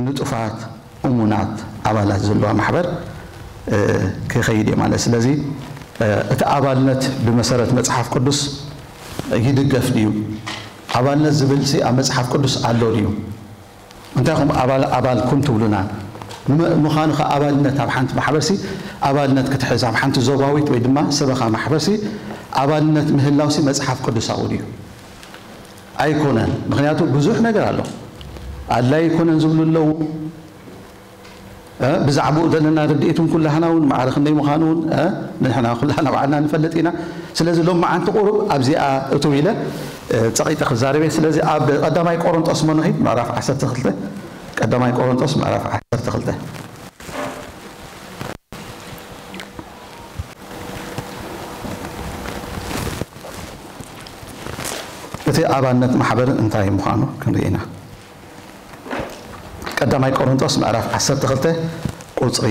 ንጡፋት እሙናት ኣባላት ዘለዋ ማሕበር ክኸይድ እየ ማለት። ስለዚ እቲ ኣባልነት ብመሰረት መጽሓፍ ቅዱስ ይድገፍ ድዩ? ኣባልነት ዝብል ሲ ኣብ መጽሓፍ ቅዱስ ኣሎ ድዩ? እንታይ ኹም ኣባል ኣባል ኩን ትብሉና? ምዃኑ ከ ኣባልነት ኣብ ሓንቲ ማሕበር ሲ ኣባልነት ክትሕዝ ኣብ ሓንቲ ዞባዊት ወይ ድማ ሰበኻ ማሕበር ሲ ኣባልነት ምህላው ሲ መጽሓፍ ቅዱሳዊ ድዩ? ኣይኮነን። ምኽንያቱ ብዙሕ ነገር ኣሎ። ኣድላይ ኣይኮነን ዝብሉ ኣለዉ። ብዛዕባኡ ዘለና ርድኢት እውን ኩላህና እውን ማዕረ ክንደይ ምዃኑ እውን ንሕና ኩላህና ባዕልና ንፈልጥ ኢና። ስለዚ ሎም መዓንቲ ቁሩብ ኣብዚኣ እትው ኢለ ጸቒጠ ክዛረብ እየ። ስለዚ ኣብ ቀዳማይ ቆሮንጦስ መኖኺ ምዕራፍ ዓሰርተ ክልተ፣ ቀዳማይ ቆሮንጦስ ምዕራፍ ዓሰርተ ክልተ። እቲ ኣባልነት ማሕበር እንታይ ምዃኑ ክንርኢ ኢና። ቀዳማይ ቆሮንጦስ ምዕራፍ ዓሰርተ ክልተ ቁጽሪ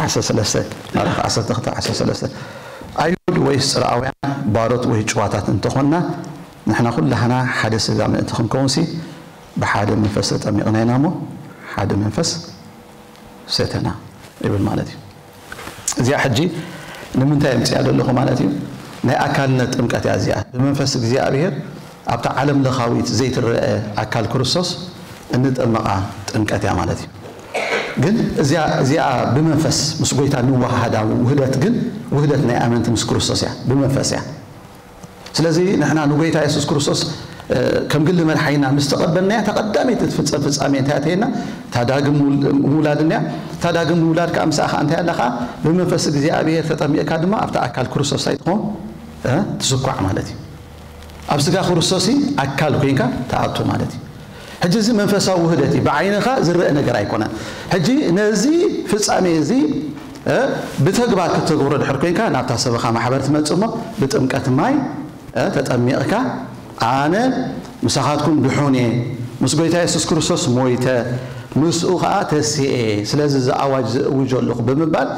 ዓሰርተ ሰለስተ፣ ምዕራፍ ዓሰርተ ክልተ ዓሰርተ ሰለስተ። ኣይሁድ ወይስ ጽርኣውያን፣ ባሮት ወይ ጭዋታት እንተኾንና፣ ንሕና ኩላህና ሓደ ስጋ ምእንቲ ክንከውንሲ ብሓደ መንፈስ ተጠሚቕና ኢና እሞ ሓደ መንፈስ ሰተና ይብል ማለት እዩ። እዚኣ ሕጂ ንምንታይ የምፅያ ዘለኹ ማለት እዩ? ናይ ኣካልነት ጥምቀት እያ እዚኣ። ብመንፈስ እግዚኣብሔር ኣብታ ዓለም ለኻዊት ዘይትረአ ኣካል ክርስቶስ እንጠመቓ ጥምቀት እያ ማለት እዩ። ግን እዚኣ እዚኣ ብመንፈስ ምስ ጎይታ ንወሃሃዳ ውህደት ግን ውህደት ናይ ኣመንቲ ምስ ክርስቶስ እያ፣ ብመንፈስ እያ። ስለዚ ንሕና ንጎይታ የሱስ ክርስቶስ ከም ግሊ መድሓኒና ምስ ተቐበልናያ፣ እታ ቀዳመይቲ ትፍጸም ፍጻሜ እንታይ እያ ተይልና? እታ ዳግም ምውላድ እያ። እታ ዳግም ምውላድ ከኣ ምሳኣ ከኣ እንታይ ኣላ ከኣ? ብመንፈስ እግዚኣብሔር ተጠሚቕካ ድማ ኣብታ ኣካል ክርስቶስ እንታይ ትኸውን? ትስኳዕ ማለት እዩ። ኣብ ስጋ ክርስቶስ ኣካል ኮይንካ ትኣቱ ማለት እዩ። ሕጂ እዚ መንፈሳዊ ውህደት እዩ፣ ብዓይንኻ ዝረአ ነገር ኣይኮነን። ሕጂ ነዚ ፍጻሜ እዚ ብተግባር ክትተግብሮ ድሕር ኮይንካ ናብታ ሰበኻ ማሕበር ትመጽእ እሞ ብጥምቀት ማይ ተጠሚቕካ ኣነ ምሳኻትኩም ድሑን እየ፣ ምስ ጎይታ የሱስ ክርስቶስ ሞይተ፣ ምስኡ ኸኣ ተሲኤ፣ ስለዚ እዚ ኣዋጅ ዝእውጆ ኣለኹ ብምባል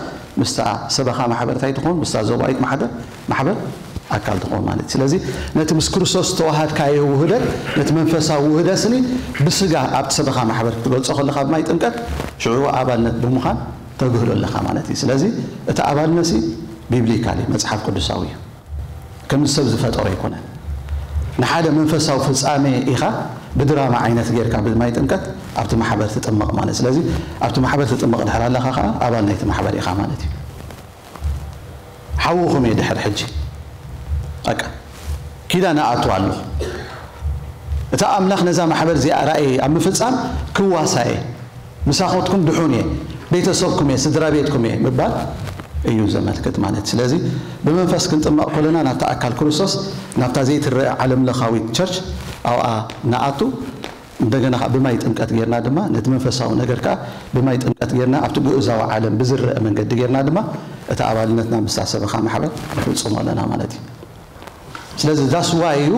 ምስታ ሰበኻ ማሕበር እንታይ ትኾን? ምስታ ዞባዊት ማሕበር ማሕበር ኣካል ትኾን ማለት እዩ። ስለዚ ነቲ ምስ ክርስቶስ ዝተዋሃድካዮ ውህደት፣ ነቲ መንፈሳዊ ውህደት ስኒ ብስጋ ኣብቲ ሰበኻ ማሕበር ክትገልጾ ከለኻ ብማይ ጥምቀት ሽዑ ኣባልነት ብምዃን ተግህዶ ኣለኻ ማለት እዩ። ስለዚ እቲ ኣባልነት ሲ ቢብሊካል እዩ፣ መጽሓፍ ቅዱሳዊ እዩ። ከም ሰብ ዝፈጠሮ ኣይኮነን። ንሓደ መንፈሳዊ ፍጻሜ ኢኻ ብድራማ ዓይነት ጌርካ ብማይ ጥምቀት ኣብቲ ማሕበር ትጥመቕ ማለት። ስለዚ ኣብቲ ማሕበር ትጥመቕ ድሕር ኣለኻ ከኣ ኣባል ናይቲ ማሕበር ኢኻ ማለት እዩ። ሓውኹም እየ ድሕር ሕጂ በቃ ኪዳን እኣቱ ኣለኹ። እቲ ኣምላኽ ነዛ ማሕበር እዚኣ ራእይ ኣብ ምፍጻም ክዋሳየ ምሳኹትኩም ድሑን እየ፣ ቤተሰብኩም እየ፣ ስድራ ቤትኩም እየ ምባል እዩ ዘመልክት ማለት። ስለዚ ብመንፈስ ክንጥመቕ ከለና ናብታ ኣካል ክርስቶስ፣ ናብታ ዘይትረአ ዓለም ለኻዊት ቸርች ኣብኣ ንኣቱ። እንደገና ከዓ ብማይ ጥምቀት ጌርና ድማ ነቲ መንፈሳዊ ነገር ከዓ ብማይ ጥምቀት ጌርና ኣብቲ ግኡዛዊ ዓለም ብዝረአ መንገዲ ጌርና ድማ እቲ ኣባልነትና ምስታ ሰበኻ ማሕበር ንፍጽሞ ኣለና ማለት እዩ። ስለዚ that's why እዩ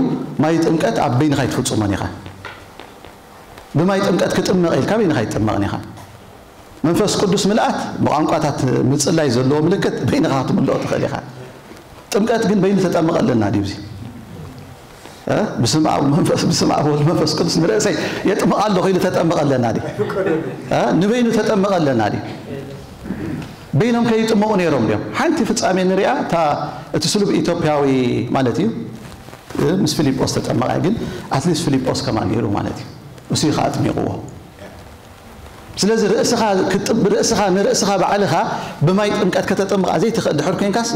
ማይ ጥምቀት ኣብ በይንኻ ኣይትፍጽሞን ኢኻ። ብማይ ጥምቀት ክጥመቕ ኢልካ በይንኻ ኣይትጥመቕን ኢኻ። መንፈስ ቅዱስ ምልኣት ብቋንቋታት ምጽላይ ዘለዎ ምልክት በይንኻ ክትምልኦ ትኽእል ኢኻ። ጥምቀት ግን በይኑ ተጠምቕ ኣለና ድዩ? እዚ እ? ብስም ኣብ መንፈስ፣ ብስም ኣብ ወልድ መንፈስ ቅዱስ ንርእሰይ የጥምቕ ኣለኹ ኢሉ ተጠምቕ ኣለና ድዩ? እ? ንበይኑ ተጠምቕ ኣለና ድዩ? በይኖም ከይጥመቑ ነይሮም ድዮም? ሓንቲ ፍጻሜ ንሪኣ፣ እታ እቲ ስሉብ ኢትዮጵያዊ ማለት እዩ፣ እ፣ ምስ ፊልጶስ ተጠመቐ፣ ግን ኣትሊስት ፊልጶስ ከማን ነይሩ ማለት እዩ። እሱ እዩ ከኣ ኣጥሚቕዎ። ስለዚ ርእስኻ ክትጥብ-፣ ርእስኻ ንርእስኻ ባዕልኻ ብማይ ጥምቀት ከተጠምቓ ዘይትኽእል ድሕር ኮይንካስ፣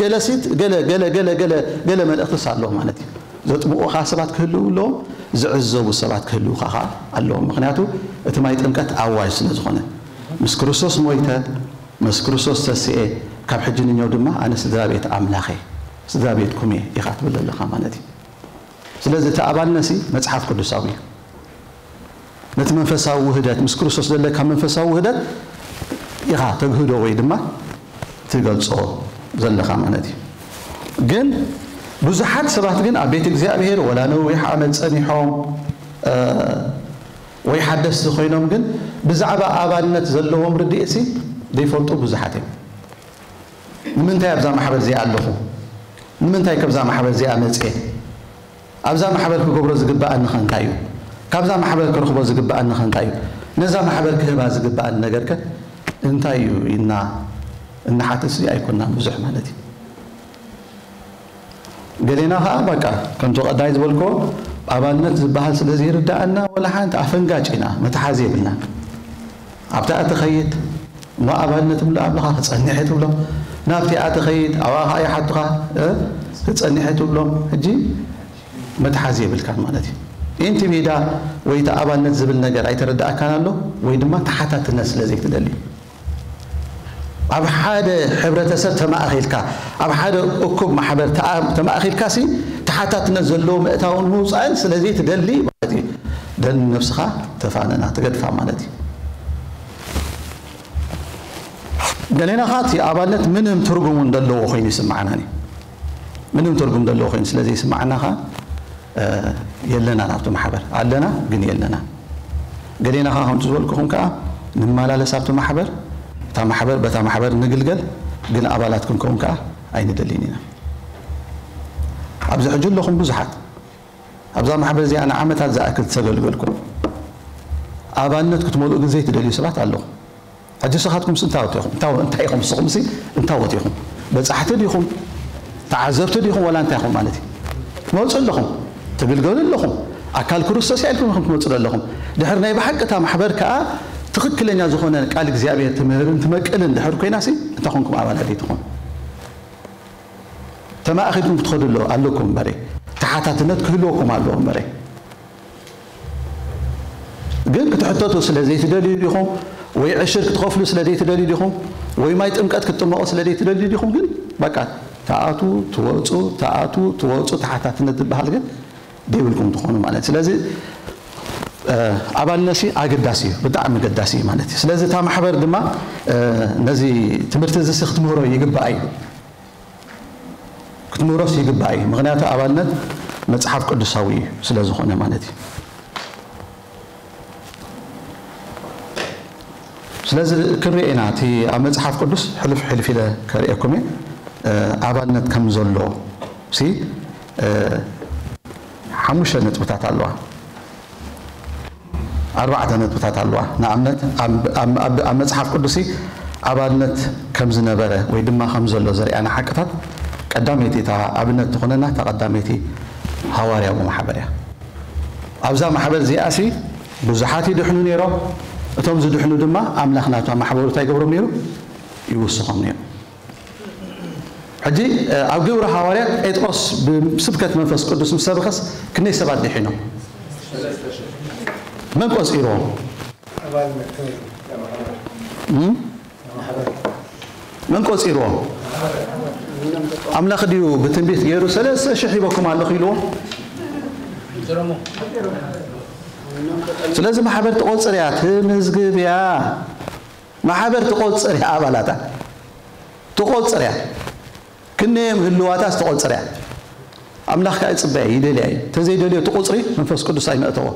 ገለ ሲት፣ ገለ፣ ገለ፣ ገለ፣ ገለ፣ ገለ መልእኽትስ ኣለዎ ማለት እዩ። ዘጥምቑኻ ሰባት ክህልዉ ኣለዎም፣ ዝዕዘቡ ሰባት ክህልዉኻ ኸኣ ኣለዎም። ምኽንያቱ እቲ ማይ ጥምቀት ኣዋጅ ስለ ዝኾነ፣ ምስ ክርስቶስ ሞይተ፣ ምስ ክርስቶስ ተስኤ፣ ካብ ሕጂ ንኛው ድማ ኣነ ስድራ ቤት ኣምላኽ እየ፣ ስድራ ቤትኩም እየ ኢኻ ትብል ዘለኻ ማለት እዩ። ስለዚ እቲ ኣባልነሲ መጽሓፍ ቅዱሳዊ እዩ። ነቲ መንፈሳዊ ውህደት፣ ምስ ክርስቶስ ዘለካ መንፈሳዊ ውህደት ኢኻ ተግህዶ ወይ ድማ ትገልጾ ዘለኻ ማለት እዩ። ግን ብዙሓት ሰባት ግን ኣብ ቤት እግዚኣብሔር ወላ ነዊሕ ዓመት ጸኒሖም፣ እ፣ ወይ ሓደስቲ ኮይኖም ግን ብዛዕባ ኣባልነት ዘለዎም ርድኢትሲ ዘይፈልጡ ብዙሓት እዮም። ንምንታይ ኣብዛ ማሕበር እዚኣ ኣለኹ? ንምንታይ ካብዛ ማሕበር እዚኣ መጽየ? ኣብዛ ማሕበር ክገብሮ ዝግብኣኒ ኸ እንታይ እዩ? ካብዛ ማሕበር ክረኽቦ ዝግብኣኒ ኸ እንታይ እዩ? ነዛ ማሕበር ክህባ ዝግብኣን ነገርከ እንታይ እዩ ኢልና እንሓትትሲ ኣይኮናን ብዙሕ ማለት እዩ። ገሌና ኸዓ በቃ ከምቲ ቀዳይ ዝበልክዎ ኣባልነት ዝበሃል ስለ ዘይርዳኣና ወላ ሓንቲ ኣፈንጋጭ ኢና መትሓዚ የብልና። ኣብታ እትኸይድ እሞ ኣባልነት እምልእ ኣለኻ ክጸንሕ እየ ትብሎም። ናብቲ እትኸይድ ኣብኣ ኸዓ ይሓቱኻ እ፣ ክጸንሕ እየ ትብሎም። ሕጂ መትሓዚ የብልካን ማለት እዩ። ኢንቲ ሜዳ ወይ እቲ ኣባልነት ዝብል ነገር ኣይተረዳእካን ኣሎ ወይ ድማ ተሓታትነት ስለ ዘይትደሊ። ኣብ ሓደ ሕብረተሰብ ተማእኺልካ ኣብ ሓደ እኩብ ማሕበር ተኣ- ተማእኺልካ ሲ ተሓታትነት ዘለዎ ምእታውን ምውፃእን ስለ ዘይትደሊ ማለት እዩ። ደን ነብስኻ ተፋነና ትገድፋ ማለት እዩ። ገሌና ኸዓ እቲ ኣባልነት ምንም ትርጉም እውን ዘለዎ ኮይኑ ይስምዓናን እዩ። ምንም ትርጉም ዘለዎ ኮይኑ ስለ ዘይስምዓና ኸዓ የለና ናብቲ ማሕበር ኣለና ግን የለና። ገሌና ኸዓ ከምቲ ዝበልኩኹም ከዓ ንመላለስ ኣብቲ ማሕበር እታ ማሕበር በታ ማሕበር ንግልገል ግን ኣባላት ክንከውን ከዓ ኣይንደልን ኢና። ኣብዚ ሕጂ ኣለኹም ብዙሓት ኣብዛ ማሕበር እዚኣ ንዓመታት ዝኣክል ተገልገልኩም ኣባልነት ክትመልኡ ግን ዘይትደልዩ ሰባት ኣለኹም። ሕጂ ንስኻትኩምስ እንታወት ኢኹም እንታይ እንታይ ኢኹም ንስኹምሲ እንታወት ኢኹም? በጻሕቲ ዲኹም? ተዓዘብቲ ዲኹም ወላ እንታይ ኢኹም ማለት እዩ? ትመጹ ኣለኹም ትግልገሉ ኣለኹም ኣካል ክርስቶስ እያ ኢልኩም ኢኹም ትመጹ ዘለኹም። ድሕሪ ናይ ብሓቂ እታ ማሕበር ከኣ ትኽክለኛ ዝኾነ ቃል እግዚኣብሔር ትምህርን ትመቅልን ድሕሪ ኮይናሲ እንታይ ኮንኩም ኣባላት ዘይትኾኑ? ተማእኺልኩም ክትኸዱ ኣሎ ኣለኩም እምበረ ተሓታትነት ክህልወኩም ኣለዎ እምበረ ግን ክትሕተቱ ስለ ዘይትደልዩ ዲኹም ወይ ዕሽር ክትኸፍሉ ስለ ዘይትደልዩ ዲኹም ወይ ማይ ጥምቀት ክትጥመቑ ስለ ዘይትደልዩ ዲኹም ግን በቃ ተኣቱ ትወፁ ተኣቱ ትወፁ ተሓታትነት ዝበሃል ግን ደይብልኩም ትኾኑ ማለት ስለዚ ኣባልነሲ ኣገዳሲ እዩ ብጣዕሚ ገዳሲ እዩ ማለት እዩ ስለዚ እታ ማሕበር ድማ ነዚ ትምህርቲ እዚ ክትምህሮ ይግባእ እዩ ክትምህሮስ ይግባእ እዩ ምክንያቱ ኣባልነት መፅሓፍ ቅዱሳዊ እዩ ስለ ዝኾነ ማለት እዩ ስለዚ ክንሪኦ ኢና እቲ ኣብ መፅሓፍ ቅዱስ ሕልፍ ሕልፍ ኢለ ከርእየኩም እየ ኣባልነት ከም ዘሎ ሲ ሓሙሽተ ነጥብታት ኣለዋ ኣርባዕተ ነጥብታት ኣለዋ ንኣብነት ኣብ መፅሓፍ ቅዱሲ ኣባልነት ከም ዝነበረ ወይ ድማ ከም ዘሎ ዘርእያና ሓቅታት ቀዳመይቲ እታ ኣብነት ትኾነና እታ ቀዳመይቲ ሃዋርያዊ ማሕበር እያ ኣብዛ ማሕበር እዚኣሲ ብዙሓት ይድሕኑ ነይሮም እቶም ዝድሕኑ ድማ ኣምላኽ ናብታ ማሕበሩ እንታይ ይገብሮም ነይሩ ይውስኾም ነይሩ ሕጂ ኣብ ግብሪ ሃዋርያት ጴጥሮስ ብስብከት መንፈስ ቅዱስ ምስ ሰበኸስ ክንደይ ሰባት ድሒኖም መን ቆፂርዎም መን ቆፂርዎም ኣምላኽ ድዩ ብትንቢት ገይሩ ሰለስተ ሽሕ ሂበኩም ኣለኹ ኢልዎም ስለዚ ማሕበር ትቆፅር እያ ትምዝግብ እያ ማሕበር ትቆፅር እያ ኣባላታ ትቆፅር እያ ክንደዮም ህልዋታስ ትቆፅር እያ ኣምላኽ ከዓ ይፅበያ ይደልያ እዩ ተዘይደልዮ እቲ ቁፅሪ መንፈስ ቅዱስ ኣይመእተዎ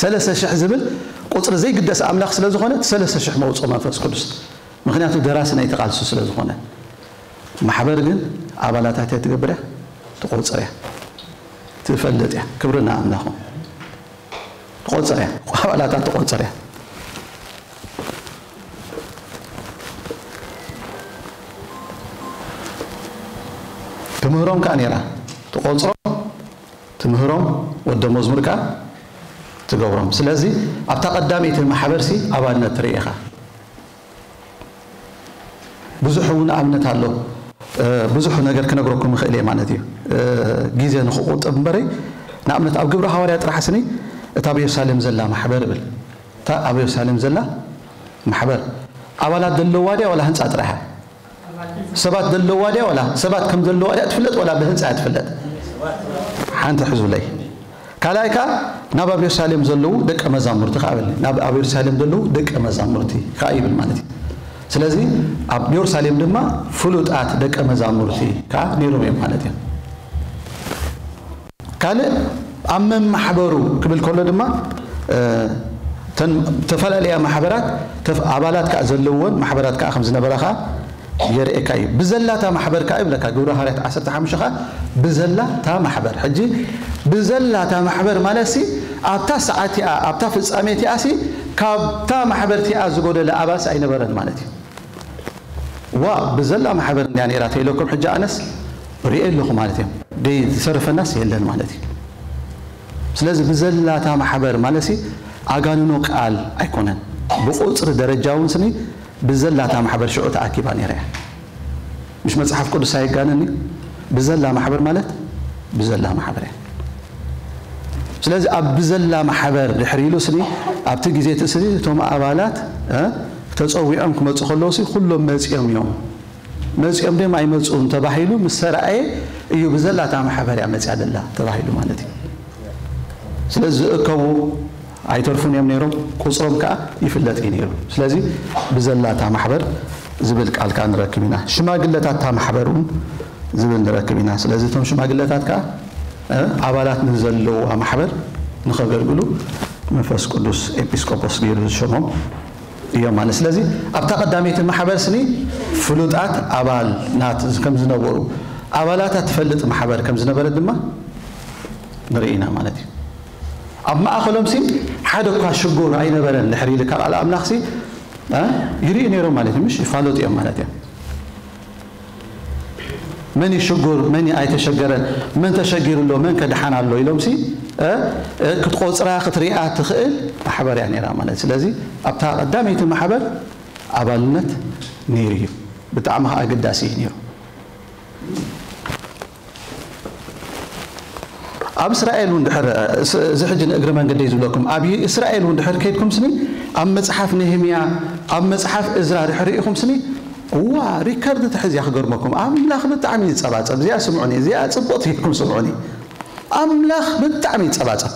ሰለስተ ሽሕ ዝብል ቁፅሪ ዘይግደስ ኣምላኽ ስለ ዝኾነ ሰለስተ ሽሕ መውፅኦ መንፈስ ቅዱስ ምክንያቱ ደራሲ ናይቲ ቃልሱ ስለ ዝኾነ ማሕበር ግን ኣባላታ እንታይ ትገብር እያ ትቆፅር እያ ትፈልጥ እያ ክብርና ኣምላኹ ትቆፅር እያ ኣባላታ ትቆፅር እያ ትምህሮም ከዓ ነይራ ትቆፅሮም ትምህሮም ወደ መዝሙር ከዓ ትገብሮም ስለዚ ኣብታ ቀዳመይቲ ማሕበርሲ ኣባልነት ትርኢ ኢኻ ብዙሕ እውን ኣብነት ኣሎ ብዙሕ ነገር ክነግረኩም ይኽእል እየ ማለት እዩ ግዜ ንክቁጥብ እምበረይ ንኣብነት ኣብ ግብረ ሃዋርያ ጥራሕ ስኒ እታ ኣብ የሩሳሌም ዘላ ማሕበር እብል እታ ኣብ የሩሳሌም ዘላ ማሕበር ኣባላት ዘለዋ ድያ ዋላ ህንፃ ጥራሕ ሰባት ዘለዋ ድያ ዋላ ሰባት ከም ዘለዋ ድያ ትፍለጥ ዋላ ብህንፃ እያ ትፍለጥ ሓንቲ ሕዙለይ ካልኣይ ከዓ ናብ ኣብ የሩሳሌም ዘለዉ ደቀ መዛሙርቲ ከዓ በል ናብ ኣብ የሩሳሌም ዘለዉ ደቀ መዛሙርቲ ከዓ ይብል ማለት እዩ ስለዚ ኣብ የሩሳሌም ድማ ፍሉጣት ደቀ መዛሙርቲ ከዓ ነይሮም እዮም ማለት እዮም ካልእ ኣብ መማሕበሩ ክብል ከሎ ድማ ተፈላለያ ማሕበራት ኣባላት ከዓ ዘለዎን ማሕበራት ከዓ ከም ዝነበራ ከዓ የርእየካ እዩ ብዘላታ ማሕበር ከዓ ይብለካ ግብረ ሃዋርያት ዓሰርተ ሓሙሽተ ከዓ ብዘላታ ማሕበር ሕጂ ብዘላታ ማሕበር ማለት ሲ ኣብታ ሰዓት እቲኣ ኣብታ ፍፃሜ እቲኣ ሲ ካብታ ማሕበር እቲኣ ዝጎደለ ኣባልስ ኣይነበረን ማለት እዩ። ዋ ብዘላ ማሕበር እንድያ ነይራ ተይለኩም ሕጂ ኣነስ ርእየ ኣለኹ ማለት እዮም። ደይ ዝሰርፈናስ የለን ማለት እዩ። ስለዚ ብዘላታ ማሕበር ማለት ሲ ኣጋንኖ ቃል ኣይኮነን። ብቁፅሪ ደረጃ እውን ስኒ ብዘላታ ማሕበር ሽዑ ተኣኪባ ነይራ እያ። ምሽ መጽሓፍ ቅዱስ ኣይጋነን እዩ። ብዘላ ማሕበር ማለት ብዘላ ማሕበር እያ። ስለዚ ኣብ ብዘላ ማሕበር ድሕሪ ኢሉ ስኒ ኣብቲ ግዜ እቲ ስኒ እቶም ኣባላት እ፣ ተጸዊዖም ክመጹ ከለዉ ሲ ኩሎም መጺኦም እዮም። መጺኦም ደም ኣይመጹን ተባሂሉ ምስ ተራእየ እዩ ብዘላታ ማሕበር እያ መጺኣ ደላ ተባሂሉ ማለት እዩ። ስለዚ ዝእከቡ ኣይተርፉን እዮም ነይሮም፣ ቁጽሮም ከኣ ይፍለጥ እዩ ነይሩ። ስለዚ ብዘላታ ማሕበር ዝብል ቃል ከኣ ንረክብ ኢና። ሽማግለታት እታ ማሕበር እውን ዝብል ንረክብ ኢና። ስለዚ እቶም ሽማግለታት ከኣ እ፣ ኣባላት ንዘለዋ ማሕበር ንኸገልግሉ መንፈስ ቅዱስ ኤጲስቆጶስ ገይሩ ዝሸሞም እዮም ማለት። ስለዚ ኣብታ ቀዳመይቲ ማሕበር ስኒ ፍሉጣት ኣባላት ከም ዝነበሩ፣ ኣባላታ ትፈልጥ ማሕበር ከም ዝነበረት ድማ ንርኢ ኢና ማለት እዩ። ኣብ ማእኸሎም ሲ ሓደ እኳ ሽጉር ኣይነበረን። ድሕሪ ኢሉ ካብ ኣል ኣምላኽ ሲ እ፣ ይርኢ ነይሮም ማለት እዩ። ምሽ ይፋለጡ እዮም ማለት እዮም። መን እዩ ሽጉር፣ መን እዩ ኣይተሸገረን፣ መን ተሸጊሩ ኣሎ፣ መን ከድሓን ኣሎ ኢሎም ሲ እ፣ እ፣ ክትቆፅራ ክትሪኣ ትኽእል ማሕበር እያ ነይራ ማለት። ስለዚ ኣብታ ቀዳመይቲ ማሕበር ኣባልነት ነይሩ እዩ። ብጣዕሚ ከዓ ኣገዳሲ እዩ ነይሩ። ኣብ እስራኤል እውን ድሕር፣ እዚ ሕጂ ንእግሪ መንገደይ ዝብለኩም፣ ኣብ እስራኤል እውን ድሕር ከይድኩም ስኒ፣ ኣብ መጽሓፍ ነህምያ፣ ኣብ መጽሓፍ እዝራ ድሕር ርኢኹም ስኒ፣ እዋ፣ ሪከርድ ትሕዝ እያ ክገርመኩም። ኣምላኽ ብጣዕሚ ይጸባጸብ። እዚኣ ስምዑኒ፣ እዚኣ ጽቡቕቲ ኢልኩም ስምዑኒ። ኣምላኽ ብጣዕሚ ይጸባጸብ።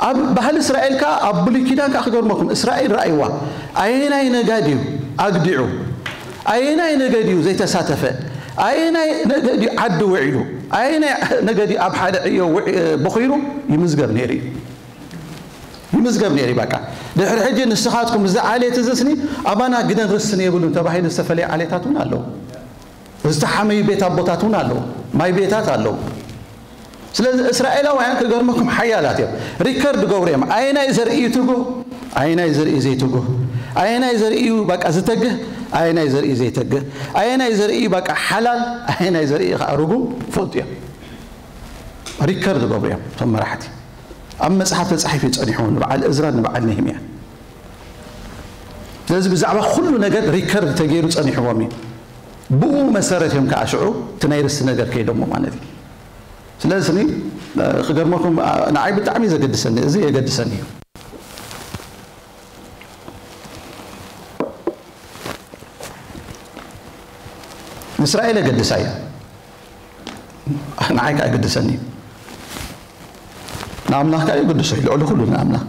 ኣብ ባህሊ እስራኤል ከኣ ኣብ ብሉይ ኪዳን ከኣ ክገርመኩም፣ እስራኤል ረኣይዋ። ኣየናይ ነጋድ እዩ ኣግዲዑ? ኣየናይ ነገድ እዩ ዘይተሳተፈ? ኣየናይ ነገድ እዩ ዓዲ ውዒሉ? ኣየናይ ነገድ እዩ ኣብ ሓደ ዕዮ ውዒ-፣ ቦኺሩ? ይምዝገብ ነይሩ እዩ። ይምዝገብ ነይሩ እዩ። በቃ፣ ድሕሪ ሕጂ ንስኻትኩም እዚ ዓሌት እዚ ስኒ ኣባና ግደን ርስን የብሉን ተባሂሉ ዝተፈለየ ዓሌታት እውን ኣለዉ። ዝተሓመዩ ቤት ኣቦታት እውን ኣለዉ። ማይ ቤታት ኣለዉ። ስለዚ እስራኤላውያን ክገርመኩም ሓያላት እዮም። ሪከርድ ገብሩ እዮም። ኣየናይ ዘርኢ እዩ ትጉህ፣ ኣየናይ ዘርኢ ዘይትጉህ፣ ኣየናይ ዘርኢ እዩ በቃ ዝተግህ፣ ኣየናይ ዘርኢ ዘይተግህ፣ ኣየናይ ዘርኢ እዩ በቃ ሓላል፣ ኣየናይ ዘርኢ እዩ ከዓ ርጉም ይፈልጡ እዮም። ሪከርድ ገብሩ እዮም እቶም መራሕቲ። ኣብ መጽሓፍ ተጻሒፉ እዩ ጸኒሑ ንበዓል እዝራን ንበዓል ነህምያን። ስለዚ ብዛዕባ ኩሉ ነገር ሪከርድ ተገይሩ ጸኒሕዎም እዩ። ብኡ መሰረት እዮም ከዓ ሽዑ እቲ ናይ ርስቲ ነገር ከይዶሞ ማለት እዩ። ስለዚ ስኒ፣ እ፣ ክገርመኩም፣ እ፣ ንዓይ ብጣዕሚ ዘገድሰኒ፣ እዚ የገድሰኒ እዩ። ንእስራኤል የገድሳ እዩ። ንዓይ ከዓ የገድሰኒ እዩ። ንኣምላኽ ከዓ የገድሶ እዩ፣ ልዕሊ ኩሉ ንኣምላኽ።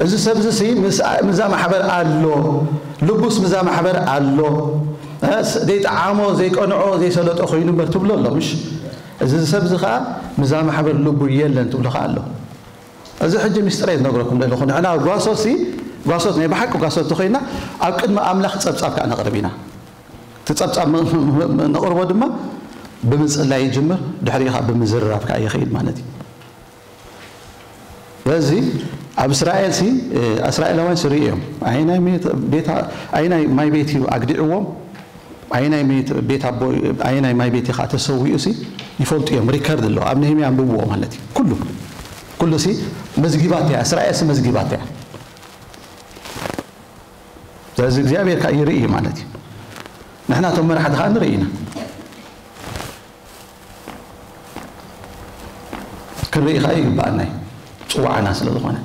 እዚ ሰብ እዚ ሲ ምስ-፣ ምስዛ ማሕበር ኣሎ፣ ልቡስ ምስዛ ማሕበር ኣሎ። እ፣ ስ-፣ ዘይጠዓሞ፣ ዘይቀንዖ፣ ዘይሰለጦ ኮይኑ እምበር ትብሎ ኣሎ፣ ምሽ? እዚ ሰብ እዚ ከዓ ምስዛ ማሕበር ልቡ የለን ትብሎ ከዓ ኣሎ። እዚ ሕጂ ምስጢር እየ ዝነግረኩም ዘለኹ። ንሕና ጓሶት ሲ፣ ጓሶት ናይ ብሓቂ ጓሶት ተኾይና ኣብ ቅድሚ ኣምላኽ ጸብጻብ ከዓ ነቕርብ ኢና። እቲ ጸብጻብ ም-፣ ም-፣ ም-፣ ነቕርቦ ድማ ብምጽላይ ይጅምር፣ ድሕሪኡ ከዓ ብምዝርራብ ከዓ ይኸይድ ማለት እዩ። ስለዚ ኣብ እስራኤል ሲ፣ እ፣ እስራኤላውያን ሲ ርእዮም። ኣየናይ ሜት-፣ ቤት፣ ኣየናይ ማይ ቤት እዩ ኣግዲዕዎም? ኣየናይ ሜት-፣ ቤት ኣቦ፣ ኣየናይ ማይ ቤት እዩ ከዓ ተሰዊኡ ሲ ይፈልጡ እዮም። ሪከርድ ኣሎ። ኣብ ነህምያ ኣንብብዎ ማለት እዩ። ኩሉ፣ ኩሉ ሲ መዝጊባት እያ። እስራኤል ሲ መዝጊባት እያ። ስለዚ እግዚኣብሔር ከዓ ይርኢ እዩ ማለት እዩ። ንሕና እቶም መራሕቲ ከዓ ንርኢ ኢና። ክንርኢ ከዓ ይግባኣና እዩ። ጽዋዕና ስለ ዝኾነ።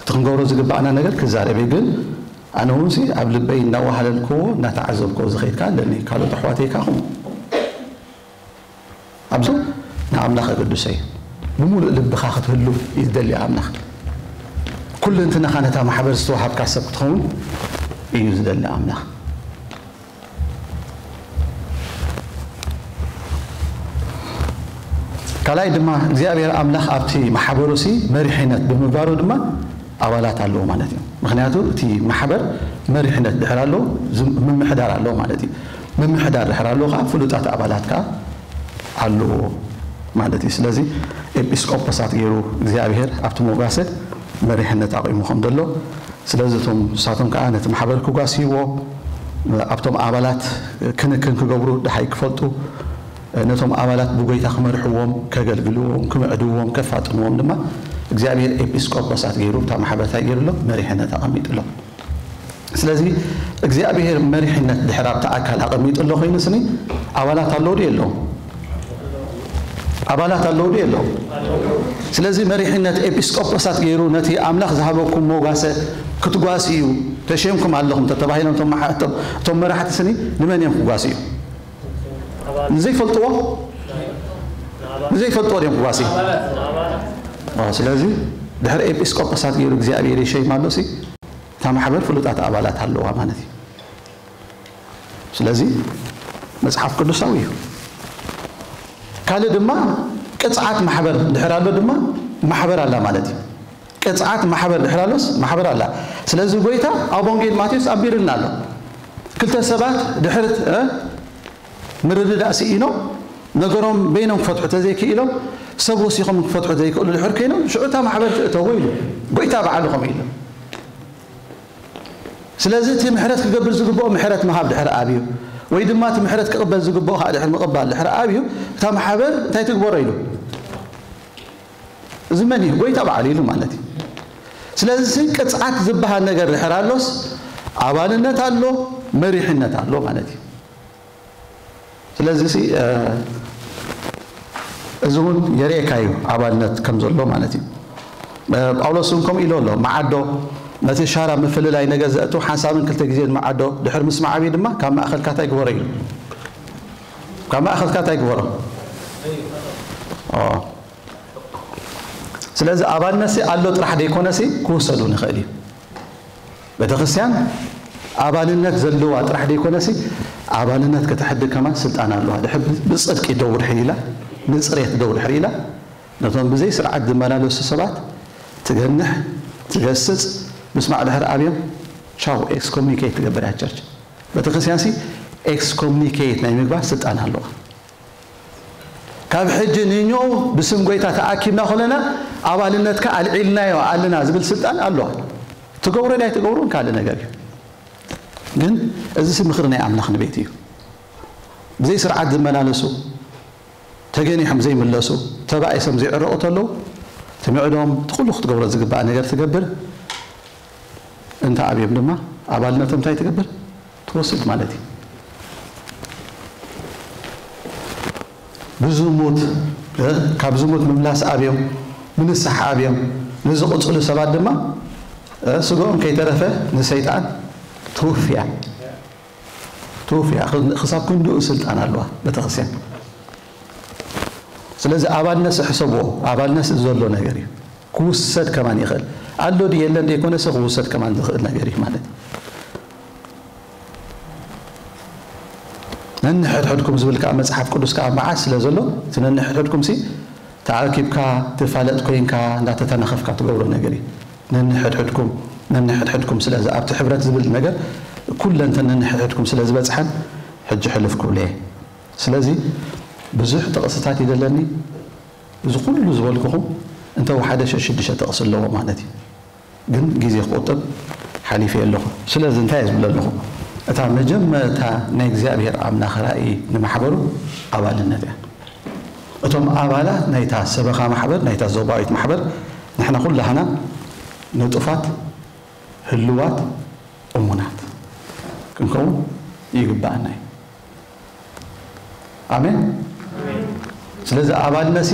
እቲ ክንገብሮ ዝግባኣና ነገር ክዛረብ እዩ። ግን ኣነ እውን ሲ ኣብ ልበይ እናዋሃለልክዎ፣ እናተዓዘብክዎ ዝኸይድ ከዓ ኣለኒ። ካልኦት ኣሕዋተይ ከዓ ከምኡ። ኣብዚ ንኣምላኽ ኣገድሶ እዩ። ብምሉእ ልብኻ ክትህሉ እዩ ዝደሊ ኣምላኽ። ኩልንትናኻ ነታ ማሕበር ዝተዋሃብካ ሰብ ክትኸውን እዩ ዝደሊ ኣምላኽ። ካልኣይ ድማ እግዚኣብሔር ኣምላኽ ኣብቲ ማሕበሩ ሲ መሪሕነት ብምግባሩ ድማ ኣባላት ኣለዎ ማለት እዩ። ምኽንያቱ እቲ ማሕበር መሪሕነት ድሕር ኣለዎ፣ ዝም-፣ ምምሕዳር ኣለዎ ማለት እዩ። ምምሕዳር ድሕር ኣለዎ ከዓ ፍሉጣት ኣባላት ከዓ ኣለዎ ማለት እዩ። ስለዚ ኤጲስቆጶሳት ገይሩ እግዚኣብሔር ኣብቲ መጓሰ መሪሕነት ኣቑሙ ከም ዘሎ፣ ስለዚ እቶም ንሳቶም ከዓ ነቲ ማሕበር ክጓስይዎ፣ ኣብቶም ኣባላት ክንክን ክገብሩ ደሓይ ክፈልጡ፣ ነቶም ኣባላት ብጎይታ ክመርሕዎም፣ ከገልግልዎም፣ ክምዕድዎም፣ ከፋጥንዎም ድማ እግዚኣብሔር ኤጲስቆጶሳት ገይሩ እታ ማሕበር እንታይ ገይሩሎም? መሪሕነት ኣቐሚጥሎም። ስለዚ እግዚኣብሔር መሪሕነት ድሕር ኣብቲ ኣካል ኣቐሚጡ ኣሎ ኮይኑ ስኒ ኣባላት ኣለዉ ድዩ የለዎም? ኣባላት ኣለዉ ድዩ የለዎም? ስለዚ መሪሕነት ኤጲስቆጶሳት ገይሩ ነቲ ኣምላኽ ዝሃበኩም መጓሰ ክትጓስዩ ተሸምኩም ኣለኹም ተተባሂሎም እቶም መሓ-፣ እቶም፣ እቶም መራሕቲ ስኒ ንመን እዮም ክጓስዩ? ንዘይፈልጥዎ? ንዘይፈልጥዎ ድዮም ክጓስዩ? ኦ፣ ስለዚ ድሕሪ ኤጲስቆጶሳት ገይሩ እግዚኣብሔር ይሸይም ኣሎ ሲ፣ እታ ማሕበር ፍሉጣት ኣባላት ኣለዋ ማለት እዩ። ስለዚ መጽሓፍ ቅዱሳዊ እዩ። ካልእ ድማ ቅጽዓት ማሕበር ድሕር ኣሎ ድማ ማሕበር ኣላ ማለት እዩ። ቅጽዓት ማሕበር ድሕር ኣሎስ ማሕበር ኣላ። ስለዚ ጎይታ ኣብ ወንጌል ማቴዎስ ኣንቢርልና ኣሎ። ክልተ ሰባት ድሕር፣ እ፣ ምርድዳእ ስኢኖም ነገሮም በይኖም ክፈትሑ ተዘይክኢሎም ሰብ ወሲኾም ክፈትሑ ዘይክእሉ ድሕር ኮይኖም ሽዑ እታ ማሕበር ትእተዎ ኢሉ። ጎይታ በዓሉ ከምኡ ኢሉ። ስለዚ እቲ ምሕረት ክገብር ዝግብኦ ምሕረት ምሃብ ድሕር ኣብዩ፣ ወይ ድማ እቲ ምሕረት ክቕበል ዝግብኦ ከዓ ድሕር ምቕባል ድሕር ኣብዩ፣ እታ ማሕበር እንታይ ትግበሮ ኢሉ? እዚ መን እዩ? ጎይታ በዓሉ ኢሉ ማለት እዩ። ስለዚ ቅጽዓት ዝበሃል ነገር ድሕር ኣሎስ ኣባልነት ኣሎ፣ መሪሕነት ኣሎ ማለት እዩ። ስለዚ ሲ፣ እ፣ እዚ እውን የርእየካ እዩ ኣባልነት ከም ዘሎ ማለት እዩ። እ፣ ጳውሎስ እውን ከምኡ ኢሉ ኣሎ። መዓዶ ነቲ ሻራ ምፍልላይ ነገር ዘእቱ ሓንሳብን ክልተ ግዜን መዓዶ ድሕር ምስማዕ ኣብዩ ድማ ካብ ማእኸልካ እንታይ ግበሮ ኢሉ? ካብ ማእኸልካ እንታይ ግበሮ? ኦ። ስለዚ ኣባልነትሲ ኣሎ ጥራሕ ደይኮነሲ ክውሰድ እውን ይኽእል እዩ። ቤተክርስትያን ኣባልነት ዘለዋ ጥራሕ ደይኮነሲ ኣባልነት ከተሕድግ ከማን ስልጣን ኣለዋ። ድሕር ብጽድቂ ደው ድሕር ኢላ፣ ንጽሬት ደው ድሕር ኢላ፣ ነቶም ብዘይ ስርዓት ዝመላለሱ ሰባት ትገንሕ፣ ትገስጽ፣ ምስማዕ ድሕር ኣብዮም፣ ቻው፣ ኤክስኮሙኒኬት ትገብር እያ ቸርች። ቤተክርስትያንሲ ኤክስኮሙኒኬት ናይ ምግባር ስልጣን ኣለዋ። ካብ ሕጂ ንኞ ብስም ጎይታ ተኣኪብና ኮለና ኣባልነትካ ኣልዒልናዮ ኣለና ዝብል ስልጣን ኣለዋ። ትገብሮ ናይ ትገብሮን ካልእ ነገር እዩ። ግን እዚ ሲ ምኽሪ ናይ ኣምላኽ ንቤት እዩ። ብዘይ ስርዓት ዝመላለሱ፣ ተገኒሖም ዘይምለሱ፣ ተባኢሶም ዘይዕረቑ ተለዉ፣ ትምዕዶም፣ እቲ ኩሉ ክትገብሮ ዝግባእ ነገር ትገብር። እንተ ኣብዮም ድማ ኣባልነቶም እንታይ ትገብር? ትወስድ ማለት እዩ። ብዝሙት፣ እ፣ ካብ ዝሙት ምምላስ ኣብዮም፣ ንንስሓ ኣብዮም፣ ንዝቕጽሉ ሰባት ድማ፣ እ፣ ስጋኦም ከይተረፈ ንሰይጣን ትውፍያ። ትውፍያ። ኽ-፣ ክሳብ ክንድኡ ስልጣን ኣለዋ ቤተክርስትያን። ስለዚ ኣባልነትሲ ሕሰብዎ፣ ኣባልነትሲ ዘሎ ነገር እዩ። ክውሰድ ከማን ይኽእል። ኣሎ ድዩ የለን ደይኮነሲ ክውሰድ ከማን ዝኽእል ነገር እዩ ማለት እዩ። ነንሕድሕድኩም ዝብል ከዓ መጽሓፍ ቅዱስ ከዓ መዓት ስለ ዘሎ፣ እቲ ነንሕድሕድኩም ሲ ተኣኪብካ፣ ትፋለጥ ኮይንካ፣ እንዳተተናኸፍካ ትገብሮ ነገር እዩ። ነንሕድሕድኩም፣ ነንሕድሕድኩም። ስለዚ ኣብቲ ሕብረት ዝብል ነገር ኩለንተን ነንሕድሕድኩም ስለ ዝበጽሐን፣ ሕጂ ሕልፍ ክብሎ እየ። ስለዚ ብዙሕ ጥቕስታት ይደለኒ። እዚ ኩሉ ዝበልኩኹም እንተ ወሓደ ሸሽዱሽተ ጥቕሲ ኣለዎ ማለት እዩ። ግን ግዜ ክቑጥብ ሓሊፈ ኣለኹ። ስለዚ እንታይ እየ ዝብል ኣለኹ? እታ መጀመርታ ናይ እግዚኣብሔር ኣምላኽ ራእይ ንማሕበሩ ኣባልነት እያ። እቶም ኣባላት ናይታ ሰበኻ ማሕበር፣ ናይታ ዞባዊት ማሕበር፣ ንሕና ኩላህና ንጡፋት፣ ህልዋት፣ እሙናት ክንከውን ይግባኣና እዩ። ኣሜን። ስለዚ ኣባልነትሲ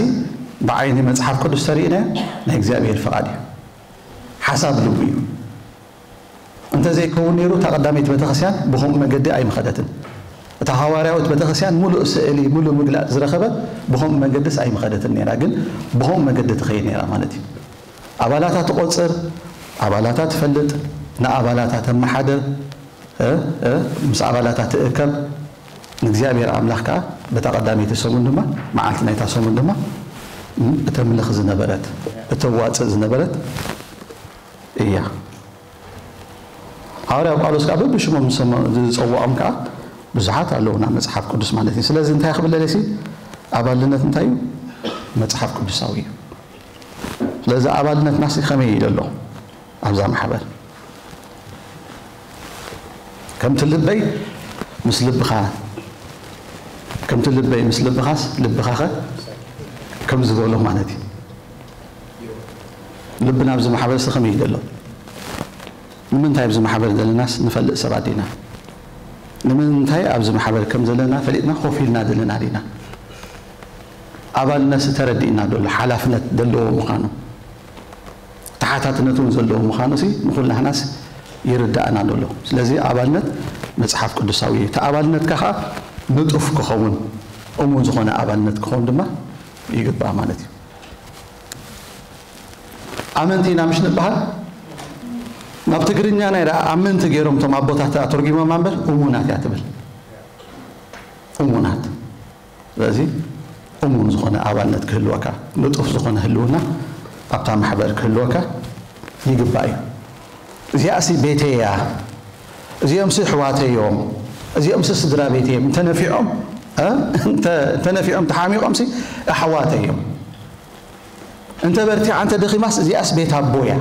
ብዓይኒ መጽሓፍ ቅዱስ ተሪእና ናይ እግዚኣብሔር ፍቓድ እዩ። ሓሳብ ልቡ እዩ። እንተዘይከውን ነይሩ፣ እታ ቀዳመይቲ ቤተክርስትያን ብኸምኡ መገዲ ኣይምኸደትን። እታ ሃዋርያዊት ቤተክርስትያን ምሉእ ስእሊ፣ ምሉእ ምግላጽ ዝረኸበት ብኸምኡ መገድስ ኣይምኸደትን ነይራ፣ ግን ብኸምኡ መገዲ ትኸይድ ነይራ ማለት እዩ። ኣባላታ ትቖጽር፣ ኣባላታ ትፈልጥ፣ ንኣባላታ ተመሓድር፣ እ፣ እ፣ ምስ ኣባላታ ትእከብ፣ ንእግዚኣብሔር ኣምላኽ ከኣ በታ ቀዳመይቲ ሰሙን ድማ፣ መዓልቲ ናይታ ሰሙን ድማ፣ እም፣ እተምልኽ ዝነበረት፣ እተዋጽእ ዝነበረት እያ። ሃዋርያ ጳውሎስ ከኣ በብሽሞም ዝሰመ-፣ ዝጸውዖም ከኣ ብዙሓት ኣለዉ ናብ መጽሓፍ ቅዱስ ማለት እዩ። ስለዚ እንታይ ክብል ደልየ ሲ፣ ኣባልነት እንታይ እዩ? መጽሓፍ ቅዱሳዊ እዩ። ስለዚ ኣባልነትናስ ከመይ እዩ ዘሎ ኣብዛ ማሕበር? ከምቲ ልበይ ምስ ልብኻ፣ ከምቲ ልበይ ምስ ልብኻስ ልብኻኸ ከም ዝበሎ ማለት እዩ። ልብና ኣብዚ ማሕበርሲ ከመይ እዩ ዘሎ? ንምንታይ ኣብዚ ማሕበር ዘለናስ ንፈልጥ ሰባት ዲና? ንምንታይ ኣብዚ ማሕበር ከም ዘለና ፈሊጥና ኮፍ ኢልና ዘለና ዲና? ኣባልነትሲ ተረዲእና ዶ ኣሎ ሓላፍነት ዘለዎ ምዃኑ? ተሓታትነት እውን ዘለዎ ምዃኑሲ ንኹላህናስ ይርዳእና ዶ ኣሎ? ስለዚ ኣባልነት መጽሓፍ ቅዱሳዊ እዩ። እቲ ኣባልነትካ ኸዓ ንጡፍ ክኸውን፣ እሙን ዝኾነ ኣባልነት ክኸውን ድማ ይግባእ ማለት እዩ። ኣመንቲ ኢና ምሽ ንበሃል? ናብ ትግርኛ ናይ ደኣ ኣመንቲ ገይሮም እቶም ኣቦታት ኣተርጒሞማ እምበር እሙናት እያ ትብል። እሙናት። ስለዚ እሙን ዝኾነ ኣባልነት ክህልወካ፣ ንጡፍ ዝኾነ ህልውና ኣብታ ማሕበር ክህልወካ ይግባእ እዩ። እዚኣሲ ቤተይ እያ፣ እዚኦምሲ ኣሕዋተይ እዮም፣ እዚኦምሲ ስድራ ቤተይ እዮም እንተነፊዖም፣ እ? እንተ-፣ እንተነፊዖም ተሓሚቖምሲ ኣሕዋተይ እዮም። እንተ በርቲዓ እንተ ደኺማስ እዚኣስ ቤት ኣቦ እያ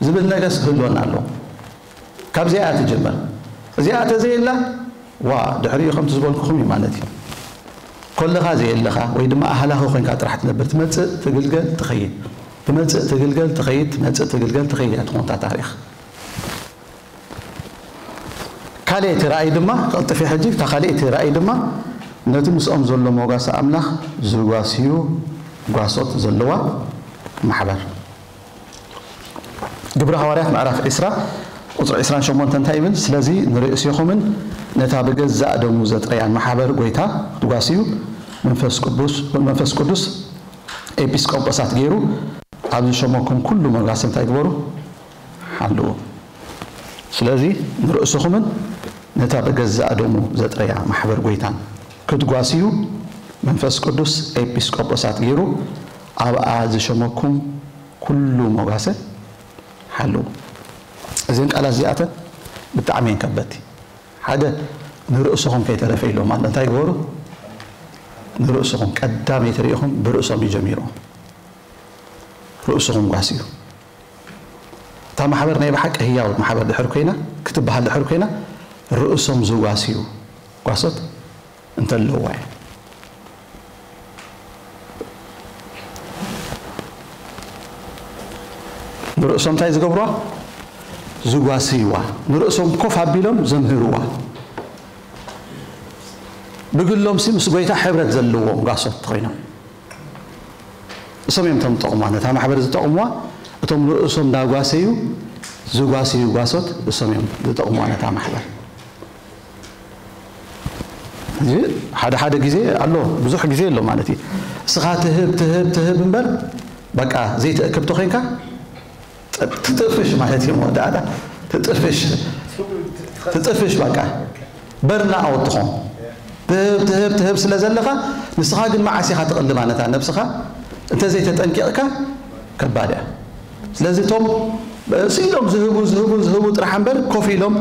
ዝብል ነገርስ ክህልወና ኣለዎ። ካብዚኣ እያ ትጅመር። እዚኣ ተዘየላ፣ ዋ፣ ድሕሪኡ ከምቲ ዝበልኩኹም እዩ ማለት እዩ። ኮለኻ ዘየለኻ ወይ ድማ ኣህላኺ ኮይንካ ጥራሕ ትነብር፣ ትመጽእ ትግልገል ትኸይድ፣ ትመጽእ ትግልገል ትኸይድ፣ ትመጽእ ትግልገል ትኸይድ እያ ትኾን እታ ታሪኽ። ካልእ እቲ ራእይ ድማ፣ ክቕልጥፍ እየ ሕጂ፣ እታ ካልእ እቲ ራእይ ድማ ነቲ ምስኦም ዘሎ ሞጋሲ ኣምላኽ ዝጓስዩ ጓሶት ዘለዋ ማሕበር። ግብሪ ሃዋርያት ምዕራፍ ዕስራ ቁጽሪ ዕስራን ሸሞንተን እንታይ ይብል? ስለዚ ንርእሴኹምን ነታ ብገዛእ ደሙ ዘጥረያን ማሕበር ጐይታ ክትጓስዩ መንፈስ ቅዱስ፣ መንፈስ ቅዱስ ኤጲስቆጶሳት ገይሩ ኣብ ዝሸመኩም ኩሉ መጋሲ እንታይ ግበሩ? ሓልዉ። ስለዚ ንርእስኹምን ነታ ብገዛእ ደሙ ዘጥረያ ማሕበር ጐይታን ክትጓስዩ መንፈስ ቅዱስ ኤጲስቆጶሳት ገይሩ ኣብኣ ዝሸመኩም ኩሉ ሞጋሰ ሓልዉ። እዘን ቃላት እዚኣተን ብጣዕሚ እየን ከበድቲ። ሓደ ንርእስኹም ከይተረፈ ኢሎም ኣሎ። እንታይ ግበሩ? ንርእስኹም ቀዳመይቲ ርኢኹም ብርእሶም እዩ ጀሚሩ። ርእስኹም ጓስዩ። እታ ማሕበር ናይ ብሓቂ ህያው ማሕበር ድሕር ኮይና፣ ክትበሃል ድሕር ኮይና፣ ርእሶም ዝጓስዩ ጓሶት እንተለውዋ እያ። ንርእሶም እንታይ ዝገብሩዋ? ዝጓስይዋ። ንርእሶም ኮፍ ኣቢሎም ዘምህርዋ። ብግሎምሲ ምስ ጐይታ ሕብረት ዘለዎም ጓሶት ኮይኖም። እሶም እዮም እቶም ዝጠቕሙዋ፣ ነታ ማሕበር ዝጠቕሙዋ፣ እቶም ንርእሶም እንዳጓሰዩ ዝጓስዩ ጓሶት እሶም እዮም ዝጠቕሙዋ ነታ ማሕበር። እዚ ሓደ ሓደ ግዜ ኣሎ፣ ብዙሕ ግዜ ኣሎ ማለት እዩ። እስኻ ትህብ፣ ትህብ፣ ትህብ እምበር፣ በቃ ዘይትእክብ ተኾይንካ፣ ጥ-፣ ትጥፍሽ ማለት እዩ መወዳእታ። ትጥፍሽ፣ ትጥፍሽ በቃ። በርና ኣውት ትኾን። ትህብ፣ ትህብ፣ ትህብ ስለ ዘለኻ፣ ንስኻ ግን መዓስ ኢኻ ትቕልባ ነታ ነብስኻ? እንተዘይተጠንቂቕካ፣ ከባድ እያ። ስለዚ እቶም ስኢሎም ዝህቡ፣ ዝህቡ፣ ዝህቡ ጥራሕ እምበር፣ ኮፍ ኢሎም፣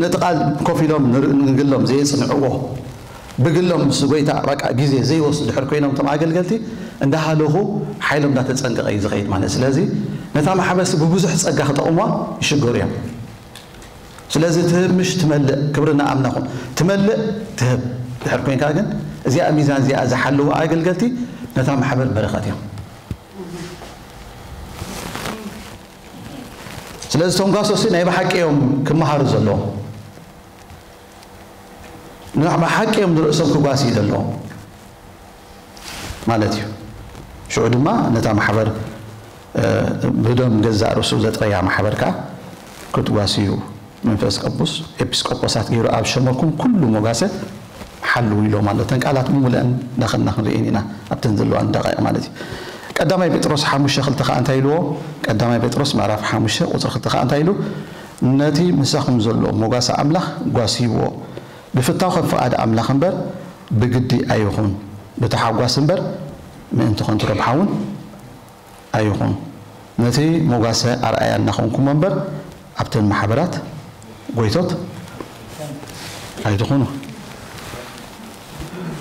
ነቲ ቃል ኮፍ ኢሎም ንር-፣ ንግሎም ዘየጽንዕዎ፣ ብግሎም ምስ ጐይታ በቃ ግዜ ዘይወስዱ ድሕር ኮይኖም፣ እቶም ኣገልገልቲ እንዳሃለኹ ሓይሎም እንዳተጸንቀቐ እዩ ዝኸይድ ማለት። ስለዚ ነታ ማሕበርሲ ብብዙሕ ጸጋ ክጠቕሙዋ ይሽገሩ እዮም። ስለዚ ትህብ ምሽ ትመልእ፣ ክብሪ ንኣምላኽ ይኹን። ትመልእ ትህብ ድሕር ኮይንካ ግን፣ እዚኣ ሚዛን እዚኣ ዝሓልዉ ኣገልገልቲ ነታ ማሕበር በረኸት እዮም። ስለዚ እቶም ጓሶሲ ናይ ብሓቂ እዮም ክመሃሩ ዘለዎም። ንብሓቂ እዮም ንርእሶም ክጓስዩ ዘለዎም ማለት እዩ። ሽዑ ድማ ነታ ማሕበር፣ እ፣ ብደም ገዛእ ርእሱ ዘጥረያ ማሕበር ከኣ ክትጓስዩ መንፈስ ቅዱስ ኤጲስቆጶሳት ገይሩ ኣብ ሸመኩም ኩሉ ሞጋሰ ሓልዉ ኢሎም ኣሎ። እተን ቃላት ምሙልአን እንዳኸድና ክንርእየን ኢና፣ ኣብተን ዘለዋን ደቃይቕ ማለት እዩ። ቀዳማይ ጴጥሮስ ሓሙሽተ ክልተ ከኣ እንታይ ኢልዎ? ቀዳማይ ጴጥሮስ ምዕራፍ ሓሙሽተ ቁጽሪ ክልተ ከኣ እንታይ ኢሉ? ነቲ ምሳኹም ዘሎ ሞጋሰ ኣምላኽ ጓስይዎ። ብፍታው ከም ፍቓድ ኣምላኽ እምበር ብግዲ ኣይኹን፣ ብታሓጓስ እምበር ምእንቲ ኸንቱ ረብሓ እውን ኣይኹን። ነቲ ሞጋሰ ኣርኣያ እናኾንኩሞ እምበር ኣብተን ማሕበራት ጐይቶት ኣይትኹኑ።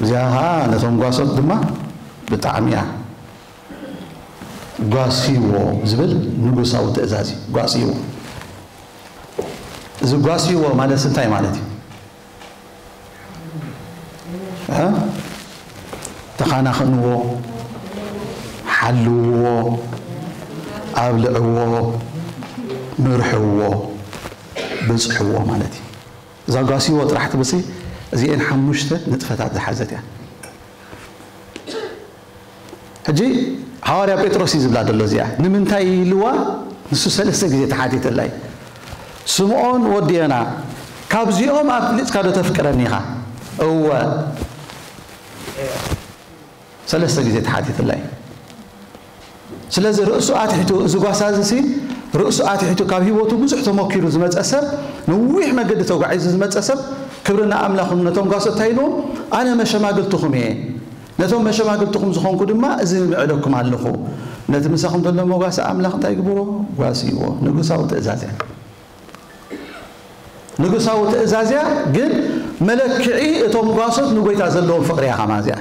እዚኣ ኸዓ ነቶም ጓሶት ድማ ብጣዕሚ እያ ጓስይዎ ዝብል ንጉሳዊ ትእዛዝ እዩ። ጓስይዎ። እዚ ጓስይዎ ማለት እንታይ ማለት እዩ? እ? ተኻናኸንዎ፣ ሓልውዎ፣ ኣብልዕዎ፣ ምርሕዎ፣ ብጽሕዎ ማለት እዩ። እዛ ጓስይዎ ጥራሕ ትብልሲ እዚኤን ሓሙሽተ ንጥፈታት ዝሓዘት እያ። ሕጂ ሃዋርያ ጴጥሮስ እዩ ዝብላ ዘሎ እዚኣ። ንምንታይ ኢልዋ? ንሱ ሰለስተ ግዜ ተሓቲተላ እዩ። ስምዖን ወዲ ዮና፣ ካብዚኦም ኣብሊጽካ ዶ ተፍቅረኒ ኢኻ? እወ። ሰለስተ ግዜ ተሓቲተላ እዩ። ስለዚ ርእሱ ኣትሒቱ፣ እዚ ጓሳ እዚ ሲ ርእሱ ኣትሒቱ ካብ ህይወቱ ብዙሕ ተመኪሩ ዝመጸ ሰብ፣ ነዊሕ መገዲ ተጓዒዙ ዝመጸ ሰብ፣ ክብሪ ንኣምላኽ ነቶም ጓሶት እንታይ ኢልዎም? ኣነ መሸማግልትኹም እየ። ነቶም መሸማግልትኹም ዝኾንኩ ድማ እዚ ምዕደኩም ኣለኹ። ነቲ ምሳኹም ዘሎ መጓሰ ኣምላኽ እንታይ ግብሮ? ጓስይዎ። ንጉሳዊ ትእዛዝ እያ። ንጉሳዊ ትእዛዝ እያ፣ ግን መለክዒ እቶም ጓሶት ንጎይታ ዘለዎም ፍቕሪ እያ ከማን እዚኣ።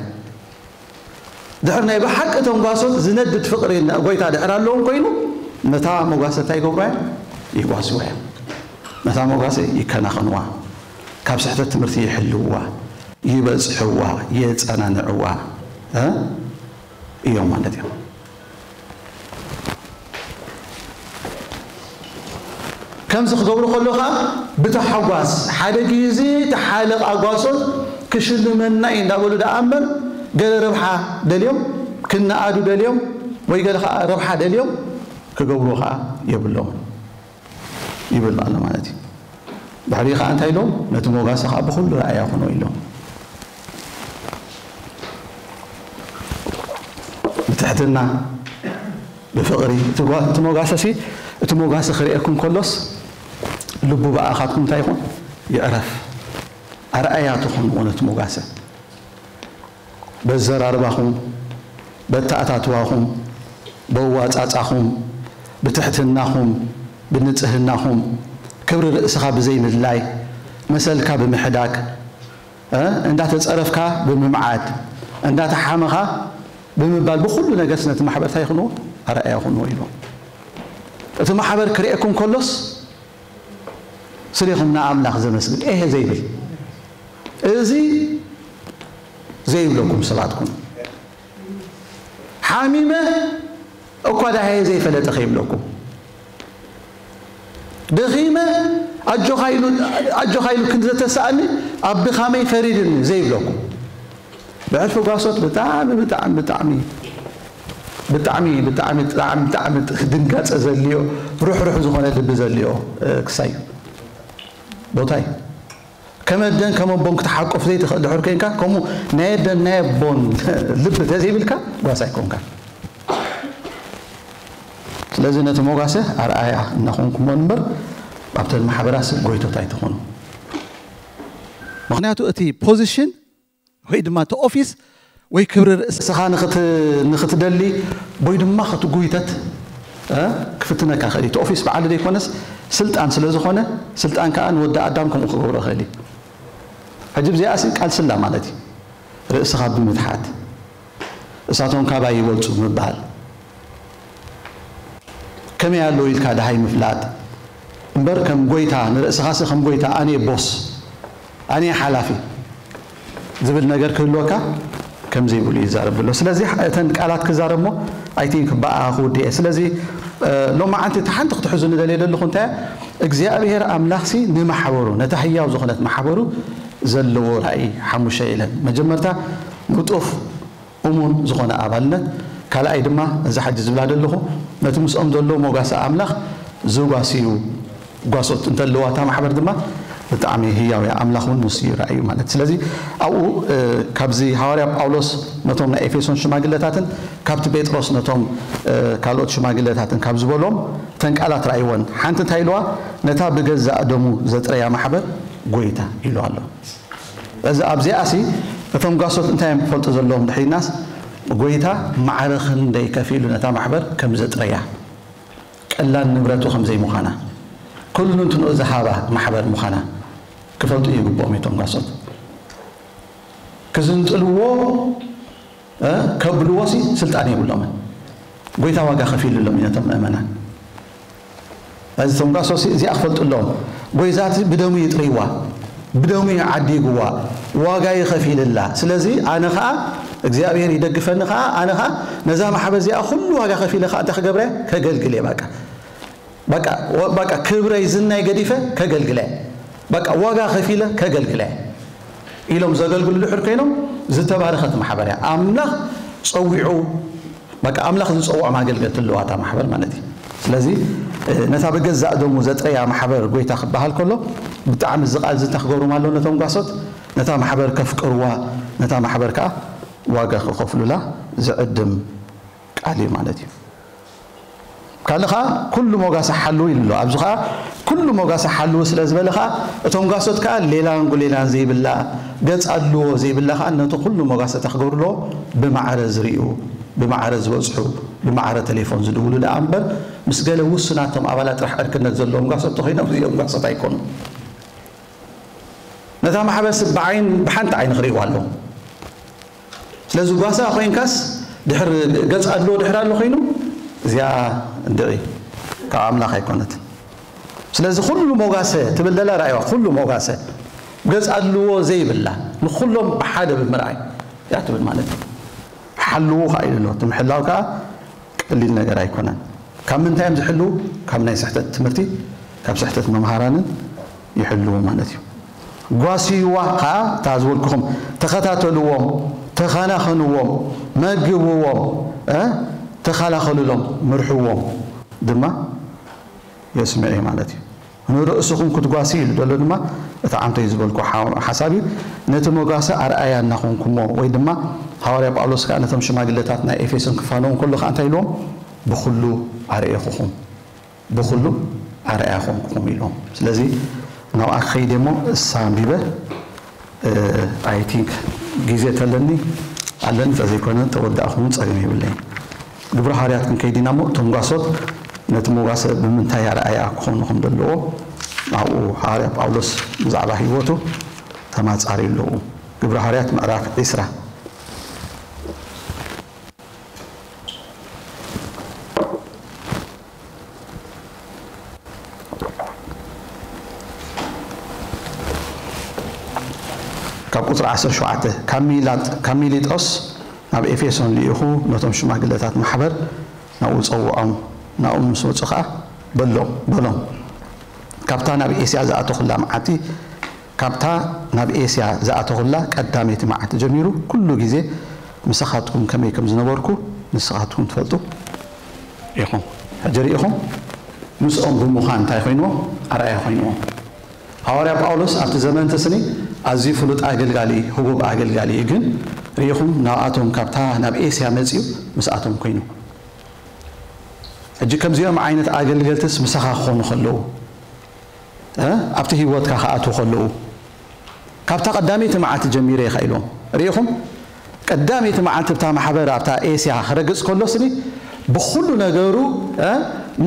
ድሕር ናይ ብሓቂ እቶም ጓሶት ዝነድድ ፍቕሪ ጎይታ ድሕር ኣለዎም ኮይኑ፣ ነታ መጓሰ እንታይ ይገብሩዋ እዮም? ይጓስዋ እዮም። ነታ መጓሰ ይከናኸንዋ። ካብ ስሕተት ትምህርቲ ይሕልውዋ፣ ይበጽሕዋ፣ የጸናንዕዋ፣ እ? እዮም ማለት እዮም። ከምዚ ክገብሩ ከሎ ኸዓ ብታሓጓስ፣ ሓደ ግዜ እቲ ሓለቓ ጓሶት ክሽልመና እዩ እንዳበሉ ደኣ እምበር፣ ገለ ረብሓ ደልዮም፣ ክነኣዱ ደልዮም፣ ወይ ገለ ኸዓ ረብሓ ደልዮም ክገብሩ ኸዓ የብሎምን ይብል ኣሎ ማለት እዩ። ድሕሪ ኸዓ እንታይ ኢሎም? ነቲ ሞጋሲ ኸዓ ብኹሉ ረኣያ ኩኖ ኢሎም። ብትሕትና፣ ብፍቕሪ፣ እቲ ጓ-፣ እቲ ሞጋሰሲ፣ እቲ ሞጋሲ ክርእየኩም ከሎስ፣ ልቡ ብኣኻትኩም እንታይ ይኹን? ይዕረፍ። ኣርኣያ ትኹንዎ ነቲ ሞጋሰ። በዘራርባኹም፣ በተኣታትዋኹም፣ በዋጻጻኹም፣ ብትሕትናኹም፣ ብንጽህናኹም፣ ክብሪ ርእስኻ ብዘይምድላይ፣ መሰልካ ብምሕዳግ፣ እ፣ እንዳተጸረፍካ ብምምዓድ፣ እንዳተሓመኻ ብምባል፣ ብኹሉ ነገርስ ነቲ ማሕበር እንታይ ይኹንዎ? ኣርኣያ ይኹንዎ ኢሎም። እቲ ማሕበር ክርእየኩም ከሎስ፣ ስሌኹም ንኣምላኽ ዘመስግን፣ ኤህ ዘይብል፣ እዚ ዘይብለኩም ሰባት ኩኑ። ሓሚመ እኳ ደሃየ ዘይፈለጠ ከይብለኩም። ደኺመ ኣጆኻ ኢሉ፣ ኣጆኻ ኢሉ ክንዲ ዘተስኣኒ ኣብ ድኻመይ ፈሪድኒ ዘይብለኩም። ብሕልፊ ጓሶት ብጣዕሚ፣ ብጣዕሚ፣ ብጣዕሚ፣ ብጣዕሚ፣ ብጣዕሚ፣ ብጣዕሚ፣ ብጣዕሚ ድንጋጸ ዘልዮ፣ ሩሕሩሕ ዝኾነ ልቢ ዘልዮ፣ እ፣ ክሳይ እዩ። ቦታ እዩ። ከም ኣደን ከም ኣቦን ክትሓቆፍ ዘይትኽእል ድሕር ኮይንካ፣ ከምኡ ናይ ኣደን ናይ ኣቦን ልቢ ተዘይብልካ ጓሳ ኣይኮንካን። ስለዚ ነቲ ሞጋሰ ኣርኣያ እናኾንኩሞ እምበር፣ ኣብተን ማሕበራት ጎይቶት ኣይትኾኑ። ምኽንያቱ እቲ ፖዚሽን ወይ ድማ እቲ ኦፊስ ወይ ክብሪ ርእስኻ ንኽት-፣ ንኽትደሊ ወይ ድማ ክትጉይተት፣ እ፣ ክፍትነካ ይኽእል እዩ። እቲ ኦፊስ በዓሉ ዘይኮነስ ስልጣን ስለ ዝኾነ፣ ስልጣን ከኣ ንወዲ ኣዳም ከምኡ ክገብሮ ይኽእል እዩ። ሕጂ ብዚኣሲ ቃልስላ ማለት እዩ። ርእስኻ ብምትሓት፣ እሳቶም ካባይ ይበልጹ ምባል። ከመይ ኣለዉ ኢልካ ደሃይ ምፍላጥ እምበር፣ ከም ጎይታ ንርእስኻሲ ከም ጎይታ፣ ኣነ ቦስ፣ ኣነ ሓላፊ ዝብል ነገር ክህልወካ ከም ዘይብሉ ይዛረብ ኣሎ። ስለዚ እተን ቃላት ክዛረብ እሞ፣ ኣይ ቲንክ፣ ብኣ ክውድእ እየ። ስለዚ፣ እ፣ ሎማዓንቲ እታ ሓንቲ ክትሕዙ ንደልየ ዘለኹ እንታይ እያ? እግዚኣብሔር ኣምላኽሲ ንማሕበሩ፣ ነታ ህያው ዝኾነት ማሕበሩ ዘለዎ ራእይ ሓሙሽተ ኢለን። መጀመርታ ንጡፍ እሙን ዝኾነ ኣባልነት፣ ካልኣይ ድማ እዛ ሕጂ ዝብላ ዘለኹ ነቲ ምስኦም ዘሎ ሞጋሲ ኣምላኽ ዝጓስዩ ጓሶት እንተለዋ እታ ማሕበር ድማ ብጣዕሚ ህያው እያ፣ ኣምላኽ እውን ንሱ እዩ ራእዩ ማለት። ስለዚ ኣብኡ፣ እ፣ ካብዚ ሃዋርያ ጳውሎስ ነቶም ናይ ኤፌሶን ሽማግለታትን ካብቲ ጴጥሮስ ነቶም፣ እ፣ ካልኦት ሽማግለታትን ካብ ዝበሎም እተን ቃላት ራእይወን ሓንቲ እንታይ ኢልዋ? ነታ ብገዛእ ደሙ ዘጥረያ ማሕበር ጎይታ ኢሉ ኣሎ። እዚ ኣብዚኣሲ እቶም ጓሶት እንታይ እዮም ክፈልጡ ዘለዎም ድሕሪናስ፣ ጎይታ ማዕረ ክንደይ ከፊሉ ነታ ማሕበር ከም ዘጥረያ፣ ቀላል ንብረቱ ከም ዘይምዃና፣ ኩሉ እንትንኡ ዝሃባ ማሕበር ምዃና ክፈልጡ ይግብኦም እቶም ጓሶት። ክዝንጥልዎ ከብልዎ ሲ ስልጣን የብሎምን። ጎይታ ዋጋ ከፊሉሎም እዩ ነቶም ምእመናን። እዚ ቶም ጋሶ እዚኣ ክፈልጡ ኣለዎም። ጎይታ እቲ ብደሙ ይጥርይዋ፣ ብደሙ ይዓዲግዋ፣ ዋጋ ይኸፊልላ። ስለዚ ኣነ ኸዓ እግዚኣብሔር ይደግፈኒ ኸዓ ኣነ ኸዓ ነዛ ማሕበር እዚኣ ኩሉ ዋጋ ከፊለ ኸዓ እንታይ ክገብረ? ከገልግል እየ። በቃ በቃ ክብረይ ዝናይ ገዲፈ ከገልግለ፣ በቃ ዋጋ ከፊለ ከገልግለ ኢሎም ዘገልግሉ ድሕር ኮይኖም ዝተባረኸት ማሕበር እያ። ኣምላኽ ጸዊዑ በቃ ኣምላኽ ዝጸውዖም ኣገልገልቲ ኣለዋ እታ ማሕበር ማለት እዩ። ስለዚ ነታ ብገዛእ ደሙ ዘጥረያ ማሕበር ጎይታ ክበሃል ከሎ ብጣዕሚ እዚ ቃል እዚ እንታይ ክገብሮም ኣለዎ? ነቶም ጓሶት ነታ ማሕበር ከፍቅርዋ፣ ነታ ማሕበር ከዓ ዋጋ ክኸፍሉላ ዝዕድም ቃል እዩ ማለት እዩ። ካልእ ከዓ ኩሉ ሞጋሰ ሓልው ኢሉ ኣሎ። ኣብዚ ከዓ ኩሉ ሞጋሰ ሓልው ስለ ዝበለ ከዓ እቶም ጓሶት ከዓ ሌላን ጉሌላን ዘይብላ ገጽ ኣድልዎ ዘይብላ ከዓ ነቲ ኩሉ ሞጋሰ እንታይ ክገብሩ ኣለዎ? ብማዕረ ዝርእዩ፣ ብማዕረ ዝበጽሑ፣ ብማዕረ ቴሌፎን ዝድውሉ ደኣ እምበር ምስ ገለ ውሱናት እቶም ኣባላት ጥራሕ ዕርክነት ዘለዎም ጓሶት ተኾይኖም እዚኦም ጓሶት ኣይኮኑን። ነታ ማሕበር ስብ ብዓይን ብሓንቲ ዓይኒ ክርእይዋ ኣለዎም። ስለዚ ጓሳ ኮይንካስ ድሕር ገጽ ኣድልዎ ድሕር ኣሎ ኮይኑ እዚኣ እንድዒ ካብ ኣምላኽ ኣይኮነትን። ስለዚ ኩሉ ሞጋሰ ትብል ዘላ ራእይዋ ኩሉ ሞጋሰ ገጽ ኣድልዎ ዘይብላ ንኩሎም ብሓደ ብምርኣይ እያ ትብል ማለት እዩ። ሓልዉ ከዓ ኢሉ ኣሎ። እቲ ምሕላው ከዓ ቀሊል ነገር ኣይኮነን። ካብ ምንታይ እዮም ዝሕልዉ? ካብ ናይ ስሕተት ትምህርቲ፣ ካብ ስሕተት መምሃራንን ይሕልዉ ማለት እዩ። ጓስይዋ ከዓ እታ ዝበልኩኹም ተኸታተልዎም፣ ተኸናኸንዎም፣ መግብዎም፣ እ፣ ተኸላኸልሎም፣ ምርሕዎም ድማ የስምዕ እዩ ማለት እዩ። ንርእስኹም ክትጓስዩ ኢሉ ዘሎ ድማ እቲ ዓንተይ ዝበልኩ ሓ-፣ ሓሳብ እዩ። ነቲ መጓሰ ኣርኣያ እናኾንኩሞ ወይ ድማ ሃዋርያ ጳውሎስ ከዓ ነቶም ሽማግለታት ናይ ኤፌሶን ክፋነዎም ከሎ ከዓ እንታይ ኢልዎም? ብኹሉ ኣርኤኹኹም፣ ብኹሉ ኣርኣያ ኾንኩኹም ኢልዎም። ስለዚ ናብኣ ክኸይድ እሞ እሳ ኣንቢበ፣ I think ግዜ ተለኒ ኣለኒ፣ ተዘይኮነ ተወዳእኹም ጸገም የብለይን። ግብረ ሃዋርያት ክንከይድ ኢና እሞ እቶም ጓሶት ነቲ መጓሰ ብምንታይ ኣርኣያ ክኾኑ ከም ዘለዎ ኣብኡ ሃዋርያ ጳውሎስ ብዛዕባ ህይወቱ ተማጻሪ ኣለዉ። ግብረ ሃዋርያት ምዕራፍ ዒስራ። ካብ ቁጽሪ ዓሰርተ ሸውዓተ፣ ካብ ሚላጥ-፣ ካብ ሚሊጦስ ናብ ኤፌሶን ልኢኹ ነቶም ሽማግለታት ማሕበር ናብኡ ጸውዖም፣ ናብኡ ምስ መጹ ኸኣ በሎም፣ በሎም፣ ካብታ ናብ ኤስያ ዝኣተኹላ መዓልቲ፣ ካብታ ናብ ኤስያ ዝኣተኹላ ቀዳመይቲ መዓልቲ ጀሚሩ ኩሉ ግዜ ምሳኻትኩም ከመይ ከም ዝነበርኩ ንስኻትኩም ትፈልጡ ኢኹም። ሕጂ ርኢኹም፣ ምስኦም ብምዃን እንታይ ኮይንዎም? ኣርኣያ ኮይንዎም። ሃዋርያ ጳውሎስ ኣብቲ ዘመን እቲ ስኒ ኣዝዩ ፍሉጥ ኣገልጋሊ፣ ህቡብ ኣገልጋሊ እዩ። ግን ርኢኹም፣ ናብኣቶም ካብታ ናብ ኤስያ መጺኡ ምስኣቶም ኮይኑ። ሕጂ ከምዚኦም ዓይነት ኣገልገልትስ ምሳኻ ክኾኑ ከለዉ፣ እ፣ ኣብቲ ህይወትካ ክኣትዉ ከለዉ፣ ካብታ ቀዳመይቲ መዓልቲ ጀሚረ ኢኻ ኢሎም። ርኢኹም፣ ቀዳመይቲ መዓልቲ እታ ማሕበር ኣብታ ኤስያ ክረግጽ ከሎ ስኒ ብኹሉ ነገሩ፣ እ፣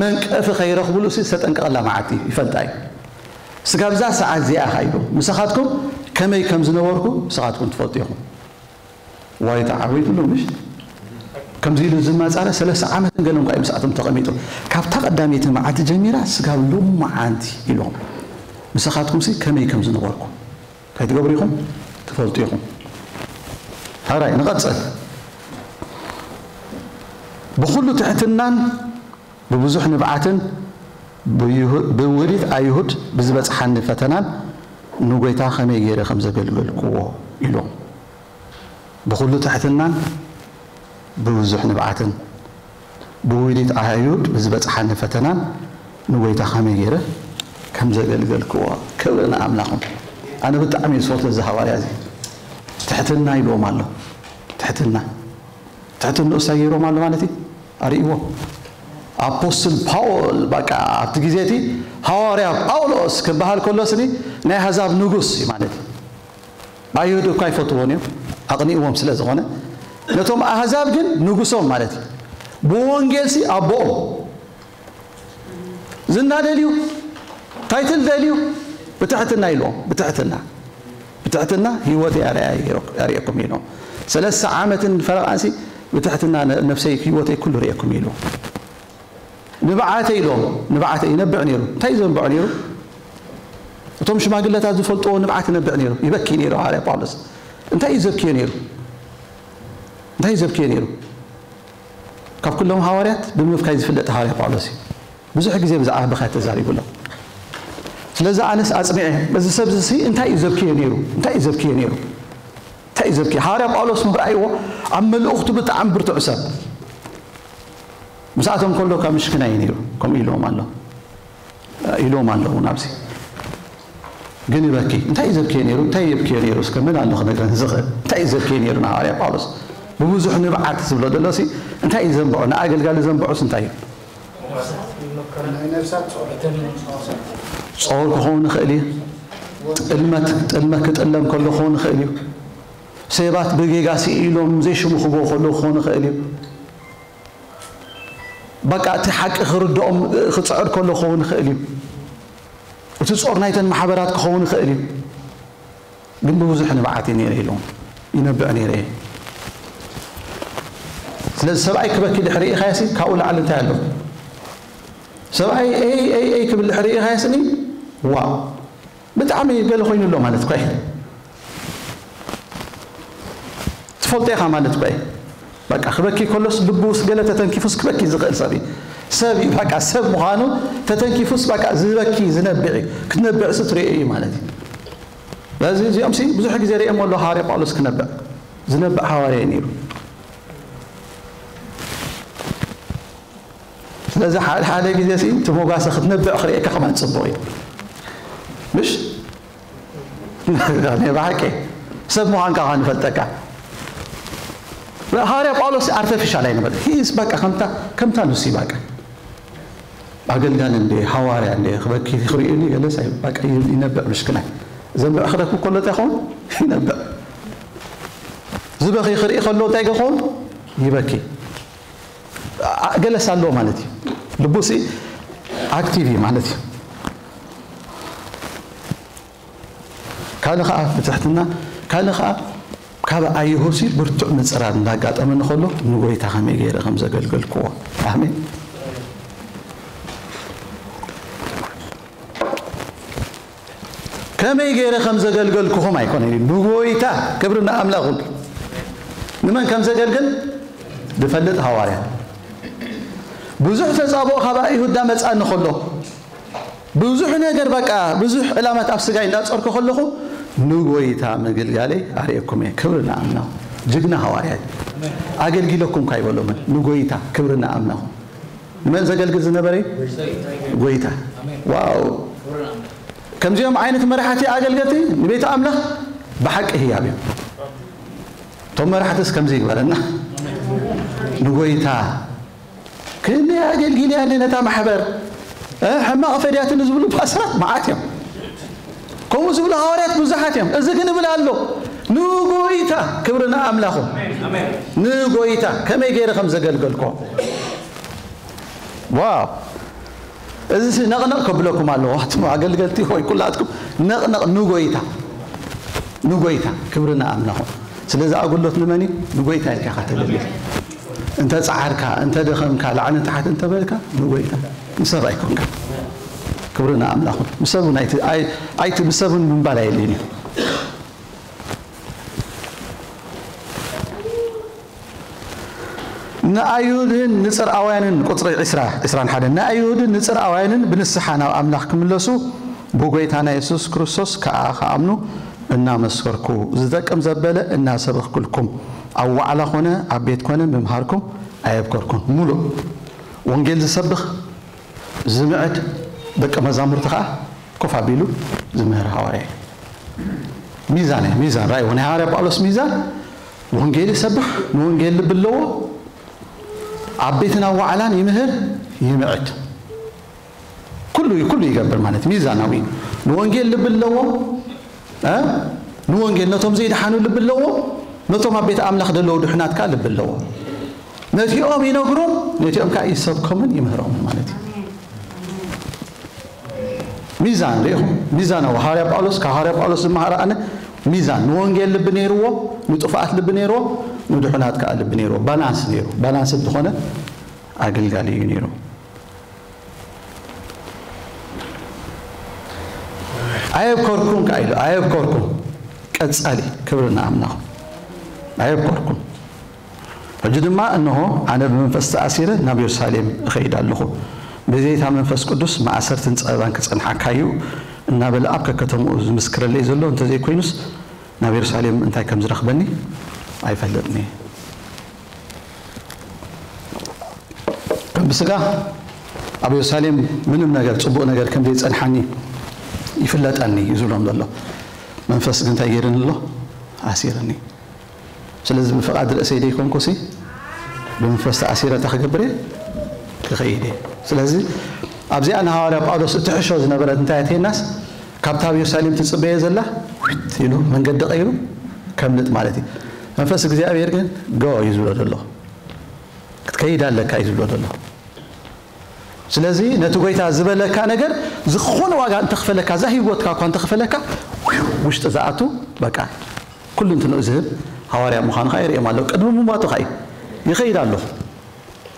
መንቀፊ ከይረኽብሉ ሲ ዝተጠንቀቐላ መዓልቲ ይፈልጣ እዩ። ስጋብ እዛ ሰዓት እዚኣ ኢኻ ኢሉ። ምሳኻትኩም ከመይ ከም ዝነበርኩ ንስኻትኩም ትፈልጡ ኢኹም። ዋይታ ዓወይትሉ ምሽ? ከምዚ ኢሉ ዝማጻረ ሰለስተ ዓመትን ገለን ኳ እዩ ምስኣቶም ተቐሚጡ። ካብታ ቀዳመይቲ መዓልቲ ጀሚራ ስጋብ ሎመዓንቲ ኢሎም። ምሳኻትኩም ሲ ከመይ ከም ዝነበርኩ ከይትገብሩ ኢኹም ትፈልጡ ኢኹም። ሕራይ ንቐጽል። ብኹሉ ትሕትናን ብብዙሕ ንብዓትን ብይሁ-፣ ብውህደት ኣይሁድ ብዝበጽሓኒ ፈተናን ንጎይታ ከመይ ገይረ ከም ዘገልገልክዎ ኢሎም። ብኹሉ ትሕትናን ብብዙሕ ንብዓትን ብውህደት ኣይሁድ ብዝበጽሓኒ ፈተናን ንጎይታ ከመይ ገይረ ከም ዘገልገልክዎ። ክብሪ ንኣምላኹም። ኣነ ብጣዕሚ እየ ዝፈትዎ እዚ ሃዋርያ እዚ። ትሕትና ኢልዎም ኣሎ። ትሕትና። ትሕትንኡ እንታይ ገይሮም ኣሎ ማለት እዩ? ኣርእይዎ። ኣፖስትል ፓውል፣ በቃ፣ ኣብቲ ግዜ እቲ ሃዋርያ ጳውሎስ ክበሃል ከሎ ስኒ ናይ ኣህዛብ ንጉስ እዩ ማለት እዩ። ኣይሁድ እኳ ይፈትዎን እዮም፣ ኣቕኒእዎም ስለ ዝኾነ። ነቶም ኣህዛብ ግን ንጉሶም ማለት እዩ። ብወንጌል ሲ ኣቦኦም። ዝና ደልዩ፣ ታይትል ደልዩ፣ ብትሕትና ኢልዎም፣ ብትሕትና። ትሕትና ህይወተይ ኣርኣያ ይረኩ-፣ ኣርእየኩም ኢሎም። ሰለስተ ዓመትን ፈረቓንሲ ብትሕትና ነ-፣ ነፍሰይ ህይወተይ ኩሉ ርእየኩም ኢሉ። ንብዓተይ ኢሎም፣ ንብዓተይ ይነብዕ ነይሩ። እንታይ እዩ ዘንብዖ ነይሩ? እቶም ሽማግለታት ዝፈልጥዎ ንብዓት ይነብዕ ነይሩ። ይበኪ ነይሩ ሃዋርያ ጳውሎስ። እንታይ እዩ ዘብክዮ ነይሩ? እንታይ እዩ ዘብክዮ ነይሩ? ካብ ኩሎም ሃዋርያት ብምብካይ ዝፍለጥ ሃዋርያ ጳውሎስ እዩ። ብዙሕ ግዜ ብዛዕባ ብኻ ተዛሪቡ ኣሎ። ስለዚ ኣነስ ኣጽኒዐ፣ እዚ ሰብ እዚ እንታይ እዩ ዘብክዮ ነይሩ? እንታይ እዩ ዘብክዮ ነይሩ? እንታይ እዩ ዘብክዮ? ሃዋርያ ጳውሎስ ምርኣይዎ ኣብ መልእኽቱ ብጣዕሚ ብርቱዕ ሰብ። ምስኣቶም ከሎ ካብ ምሽክና እዩ ነይሩ፣ ከምኡ ኢልዎም ኣሎ። ኢሎም ኣለዉ ናብዚ። ግን ይበኪ። እንታይ እዩ ዘብክዮ ነይሩ? እንታይ የብክዮ ነይሩ? እስከ መን ኣሎ ክነግረን ዝኽእል? እንታይ እዩ ዘብክዮ ነይሩ ንሃዋርያ ጳውሎስ? ብብዙሕ ንብዓት ዝብሎ ዘሎ ሲ እንታይ እዩ ዘንብዖ? ንኣገልጋሊ ዘንብዖስ እንታይ እዩ? ናይ ነፍሳት ጾር። ጾር ክኸውን ይኽእል እዩ። ጥልመት፣ ጥልመት ክጥለም ከሎ ክኸውን ይኽእል እዩ። ሰባት ብጌጋ ስኢሎም ዘይሽሙ ክብዎ ከለዉ ክኸውን ይኽእል እዩ። በቃ እቲ ሓቂ ክርድኦም ክጽዕር ከሎ ክኸውን ይኽእል እዩ። እቲ ጾር ናይተን ማሕበራት ክኸውን ይኽእል እዩ። ግን ብብዙሕ ንብዓት እዩ ነይረ ኢሎም ይነብዕ ነይረ እየ። ስለዚ ሰብኣይ ክበኪ ድሕሪ ኢኻዮሲ ካብኡ ላዕሊ እንታይ ኣሎ? ሰብኣይ ኤይ ኤይ ኤይ ክብል ድሕሪ ኢኻዮስኒ ዋ ብጣዕሚ ገለ ኮይኑ ኣሎ ማለት እኮ እዩ። ትፈልጦ ኢኻ ማለት እኮ እዩ። በቃ ክበኪ ከሎስ ልቡስ ገለ ተተንኪፉስ ክበኪ ዝኽእል ሰብ እዩ። ሰብ እዩ በቃ ሰብ ምዃኑ ተተንኪፉስ በቃ ዝበኪ ዝነብዕ እዩ። ክትነብዕስ ትሪኦ እዩ ማለት እዩ። ስለዚ እዚኦም ሲ ብዙሕ ግዜ ሪኦም ኣሎ ሃዋርያ ጳውሎስ ክነብዕ። ዝነብዕ ሃዋርያ እዩ ነይሩ። ስለዚ ሓደ ሓደ ግዜ ሲ እቲ ሞጋሰ ክትነብዕ ክርእየካ ከማን ጽቡቕ እዩ። ምሽ? ናይ ብሓቂ ሰብ ምዃንካ ከኣ ንፈልጠካ። ሃዋርያ ጳውሎስ ኣርተፊሻል ኣይነበረ። ሂስ በቃ ከምታ ከምታ ንሱ በቃ ኣገልጋሊ እንደ ሃዋርያ እንደ ክበኪ ክርእዩኒ ገለስ ኣይ በቃ ይነብዕ ምሽክናይ። ዘንብዕ ክረክብ ከሎ እንታይ ይኸውን? ይነብዕ። ዝበኺ ክርኢ ከሎ እንታይ ይኸውን? ይበኪ። ኣ-፣ ገለስ ኣለዎ ማለት እዩ። ልቡሲ ኣክቲቭ እዩ ማለት እዩ። ካልእ ኸዓ ብትሕትና፣ ካልእ ኸዓ ካብ ኣይሁሲ ብርቱዕ ምጽራር እንዳጋጠመኒ ከሎ ንጎይታ ከመይ ገይረ ከም ዘገልገልክዎ። ኣሜን። ከመይ ገይረ ከም ዘገልገልኩኹም ኣይኮነን ኢሉ ንጎይታ ክብሪ ንኣምላኹ። ንመን ከም ዘገልግል ዝፈልጥ ሃዋርያ። ብዙሕ ተጻብኦ ካብ ኣይሁዳ መጻኒ ከሎ፣ ብዙሕ ነገር በቃ፣ ብዙሕ ዕላማት ኣብ ስጋይ እንዳጸርኩ ከለኹ፣ ንጎይታ ምግልጋለይ ኣርእየኩም እየ። ክብሪ ንኣምላኹ። ጅግና ሃዋርያ እዩ። ኣገልጊለኩም ካይበሎምን፣ ንጎይታ ክብሪ ንኣምላኹ። ንመን ዘገልግል ዝነበረ እዩ? ጎይታ። ዋው! ከምዚኦም ዓይነት መራሕቲ ኣገልገልቲ ንቤት ኣምላኽ ብሓቂ ህያብ እዮም። እቶም መራሕትስ ከምዚ ይግበረና። ንጎይታ ክንደይ ኣገልጊለያ ነታ ማሕበር፣ እ፣ ሕማቕ ፈድያትኒ ዝብሉ ፓስተራት መዓት እዮም። ከምኡ ዝብሉ ሃዋርያት ብዙሓት እዮም። እዚ ግን እብል ኣሎ፣ ንጎይታ ክብሪ ንኣምላኹ። ንጎይታ ከመይ ገይረ ከም ዘገልገልኮ። ዋው! እዚ ሲ ነቕነቕ ከብለኩም ኣለዎ። ኣቱም ኣገልገልቲ ሆይ ኩላትኩም ነቕነቕ ንጎይታ። ንጎይታ ክብሪ ንኣምላኹ። ስለዚ ኣጉሎት ንመን እዩ? ንጎይታ ኢልካ ኢኻ ተገልግል። እንተ ጸዓርካ፣ እንተ ደኸምካ፣ ላዕሊ ታሕቲ እንተ በልካ ንጎይታ። ንሰብ ኣይኮንካ። ክብሪ ንኣምላኹ። ንሰብ እውን ኣይቲ-፣ ኣይ-፣ ኣይቲ-፣ ንሰብ እውን ምንባል ኣየድልይን እዩ። ንኣይሁድን ንጽርኣውያንን፣ ቁጽሪ ዕስራ፣ ዕስራን ሓደን፣ ንኣይሁድን ንጽርኣውያንን ብንስሓ ናብ ኣምላኽ ክምለሱ ብጎይታና የሱስ ክርስቶስ ከኣ ክኣምኑ እናመስከርኩ፣ ዝጠቅም ዘበለ እናሰበኽኩልኩም፣ ኣብ ዋዕላ ኾነ ኣብ ቤት ኮነ ምምሃርኩም ኣየብከርኩን። ሙሉእ ወንጌል ዝሰብኽ ዝምዕድ ደቀ መዛሙርቲ ኸዓ ኮፍ ኣቢሉ ዝምህር ሃዋርያ እዩ። ሚዛን እዩ፣ ሚዛን ራእይዎ ናይ ሃዋርያ ጳውሎስ ሚዛን ወንጌል ይሰብኽ፣ ንወንጌል ልቢ ኣለዎ፣ ኣብ ቤትን ኣብ ዋዕላን ይምህር፣ ይምዕድ። ኩሉ እዩ፣ ኩሉ ይገብር ማለት እዩ፣ ሚዛናዊ እዩ። ንወንጌል ልቢ ኣለዎ፣ እ? ንወንጌል ነቶም ዘይደሓኑ ልቢ ኣለዎ፣ ነቶም ኣብ ቤት ኣምላኽ ዘለዉ ድሑናት ከኣ ልቢ ኣለዎ። ነቲኦም ይነግሮም፣ ነቲኦም ከኣ ይሰብኮምን ይምህሮምን ማለት እዩ። ሚዛን ርኢኹም፣ ሚዛናዊ። ሃዋርያ ጳውሎስ፣ ካብ ሃዋርያ ጳውሎስ ዝመሃሮ ኣነ ሚዛን፣ ንወንጌል ልቢ ነይርዎ፣ ንጥፉኣት ልቢ ነይርዎ፣ ንድሑናት ከዓ ልቢ ነይርዎ። ባላንስ ነይሩ። ባላንስ ዝኾነ ኣገልጋሊ እዩ ነይሩ። ኣየብኮርኩም ከዓ ኢሉ፣ ኣየብኮርኩም። ቀጻሊ ክብሪ ንኣምላኹ። ኣየብኮርኩም። ሕጂ ድማ እንሆ ኣነ ብመንፈስ ተኣሲረ ናብ የሩሳሌም እኸይድ ኣለኹ። ብዘይታ መንፈስ ቅዱስ ማእሰርትን ጸበባን ክጸንሓካ እዩ እናበለ ኣብ ከከተምኡ ዝምስክረለይ ዘሎ እንተዘይኮይኑስ ናብ የሩሳሌም እንታይ ከም ዝረኽበኒ ኣይፈልጥን እየ። ከም ብስጋ ኣብ የሩሳሌም ምንም ነገር፣ ጽቡቕ ነገር ከም ዘይጸንሓኒ ይፍለጠኒ እዩ ዝብሎም ዘሎ። መንፈስ ግን እንታይ ገይርኒ ኣሎ? ኣሲርኒ። ስለዚ ብፍቓድ ርእሰይ ደይኮንኩሲ ብመንፈስ ተኣሲረ እንታይ ክገብር እየ? ክኸይድ እየ። ስለዚ ኣብዚኣ ንሃዋርያ ጳውሎስ እትሕሾ ዝነበረት እንታይ እያ ትሄናስ? ካብታ ኣብ የሩሳሌም ትጽበየ ዘላ ኢሉ መንገዲ ቀይሩ ከምልጥ ማለት እዩ። መንፈስ እግዚኣብሔር ግን ጎ እዩ ዝብሎ ዘሎ። ክትከይድ ኣለካ እዩ ዝብሎ ዘሎ። ስለዚ ነቲ ጎይታ ዝበለካ ነገር ዝኾነ ዋጋ እንተኽፈለካ፣ እዛ ህይወትካ እኳ እንተኽፈለካ፣ ውሽጢ ዝኣቱ በቃ ኩሉ እንትንኡ ዝህብ ሃዋርያ ምዃኑ ኸዓ የርእዮም ኣሎ። ቅድሚ ምሟቱ ኸዓ እዩ። ይኸይድ ኣለኹ።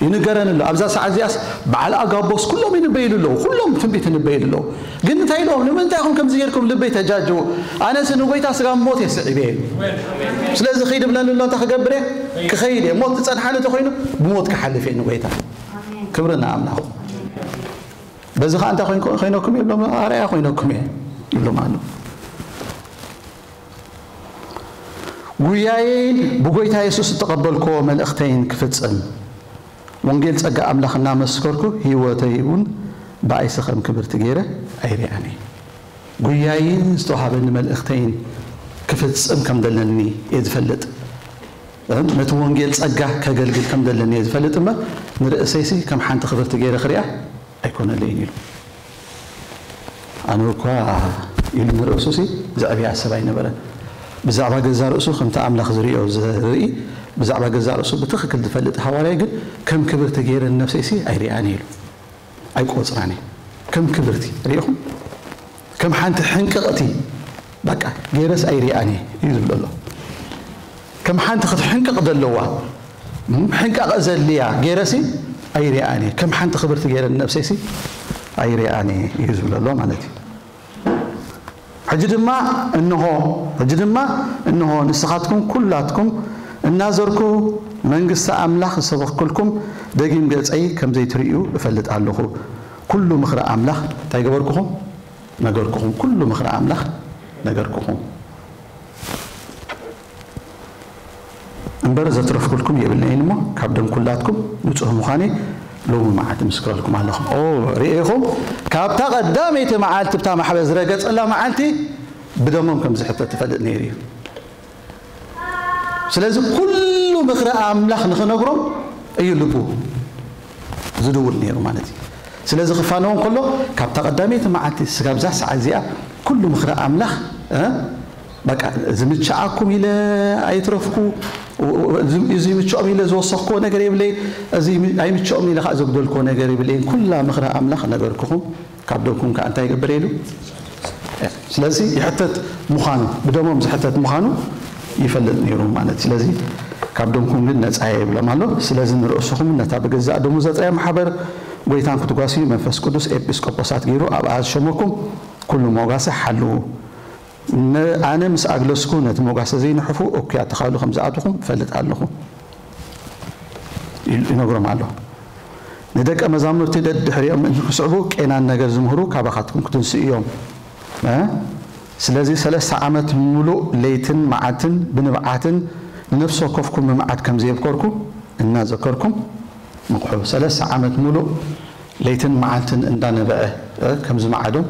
ይንገረኒ ኣሎ። ኣብዛ ሰዓት እዚኣስ በዓል ኣጋቦስ ኩሎም ይንበይሉ ኣለዉ። ኩሎም ትንቢት ይንበይሉ ኣለዉ። ግን እንታይ ኢሎም? ንምንታይ ኢኹም ከምዚ ጌርኩም ልበይ ተጃጅዉ? ኣነስ ንጎይታ ስጋ ሞት እየ ስዒበ። ስለዚ ኺድ ብለኒ ኣሎ። እንታይ ክገብር እየ? ክኸይድ እየ። ሞት ዝጸንሓኒ እንተኾይኑ ብሞት ክሓልፍ እየ ንጎይታ። ክብሪ ንኣምላኽ። በዚ ኸዓ እንታይ ኮይንኩ-፣ ኮይነኩም ይብሎም? ኣርኣያ ኮይነኩም እየ ይብሎም ኣሎ። ጉያየይን ብጎይታ የሱስ እተቐበልክዎ መልእኽተይን ክፍጽም፣ ወንጌል ጸጋ ኣምላኽ እናመስከርኩ፣ ህይወተይ እውን ብኣይሲ ከም ክብርቲ ገይረ ኣይሪኣን እየ። ጉያይን ዝተዋህበኒ መልእኽተይን ክፍጽም ከም ዘለኒ እየ ዝፈልጥ። ነቲ ወንጌል ጸጋ ከገልግል ከም ዘለኒ እየ ዝፈልጥ እምበር፣ ንርእሰይሲ ከም ሓንቲ ክብርቲ ገይረ ክሪኣ ኣይኮነለይን ኢሉ። ኣነ እኳ ኢሉ ንርእሱሲ ዘዕብያ ሰብ ኣይነበረን። ብዛዕባ ገዛ ርእሱ ከምቲ ኣምላኽ ዝርእዮ ዝርኢ፣ ብዛዕባ ገዛ ርእሱ ብትኽክል ዝፈልጥ ሃዋርያ ግን ከም ክብርቲ ገይረ ንነብሰይሲ ኣይሪኣን ኢሉ። ኣይቆጽራን እየ። ከም ክብርቲ ርኢኹም? ከም ሓንቲ ሕንቅቕቲ በቃ ገይረስ ኣይሪኣን እየ እዩ ዝብሎ ኣሎ። ከም ሓንቲ ክትሕንቅቕ ዘለዋ፣ እም፣ ሕንቃቐ ዘድልያ ገይረሲ ኣይሪኣን እየ። ከም ሓንቲ ክብርቲ ገይረ ንነብሰይሲ ኣይሪኣን እየ እዩ ዝብሎ ኣሎ ማለት እዩ። ሕጂ ድማ እንሆ፣ ሕጂ ድማ እንሆ ንስኻትኩም ኩላትኩም እናዘርኩ መንግስቲ ኣምላኽ ዝሰበኽኩልኩም ደጊም ገጸይ ከም ዘይትርእዩ እፈልጥ ኣለኹ። ኩሉ ምኽሪ ኣምላኽ እንታይ ገበርኩኹም? ነገርኩኹም። ኩሉ ምኽሪ ኣምላኽ ነገርኩኹም። እምበር ዘትረፍኩልኩም የብለይን እሞ፣ ካብ ደም ኩላትኩም ንጹህ ምዃነይ ሎሚ መዓልቲ ምስክረልኩም ኣለኹ። ኦ፣ ርኢኹም፣ ካብታ ቀዳመይቲ መዓልቲ ብታ ማሕበር ዝረገጸላ መዓልቲ ብደሞም ከም ዝሕተት ትፈልጥ ነይሩ እዩ። ስለዚ ኩሉ ምኽሪ ኣምላኽ ንኽነግሮም እዩ ልቡ ዝድውል ነይሩ ማለት እዩ። ስለዚ ክፋነው እንከሎ፣ ካብታ ቀዳመይቲ መዓልቲ ስጋብ እዛ ሰዓት እዚኣ ኩሉ ምኽሪ ኣምላኽ፣ እ፣ በቃ፣ እዚ ምችኣኩም ኢለ ኣይትረፍኩ፣ እዚ፣ እዚ ምችኦም ኢለ ዝወሰኽክዎ ነገር የብለይ፣ እዚ ኣይምችኦም ኢለ ከዓ ዘጉደልክዎ ነገር የብለይን። ኩላ ምኽሪ ኣምላኽ ነገርኩኹም፣ ካብ ደምኩም ከዓ እንታይ ይገብር ኢሉ? ስለዚ ይሕተት ምዃኑ፣ ብደሞም ዝሕተት ምዃኑ ይፈልጥ ነይሩ ማለት። ስለዚ ካብ ደምኩም ግን ነጻ እየ ይብሎም ኣሎ። ስለዚ ንርእስኹም ነታ ብገዛእ ደሙ ዘጥረያ ማሕበር ጎይታን ክትጓስዩ መንፈስ ቅዱስ ኤጲስቆጶሳት ገይሩ ኣብኣ ዝሸመኩም ኩሉ ሞጋሲ ሓልዉ። ነ-፣ ኣነ ምስ ኣግለስኩ ነቲ ሞጋሲ ዘይንሕፉ እኩያት ተኻሉ ከም ዝኣትኹም እፈልጥ ኣለኹ። ይነግሮም ኣሎ። ንደቀ መዛሙርቲ ደድሕሪኦም ምእንቲ ክስዕቡ ቄናን ነገር ዝምህሩ ካባኻትኩም ክትንስኡ እዮም። እ? ስለዚ ሰለስተ ዓመት ምሉእ ለይትን መዓልትን ብንብዓትን ንነፍሲ ወከፍኩም ምምዓድ ከም ዘየብከርኩ እናዘከርኩም ምቕሑ። ሰለስተ ዓመት ምሉእ ለይትን መዓልትን እንዳነበዐ፣ እ፣ ከም ዝመዓዶም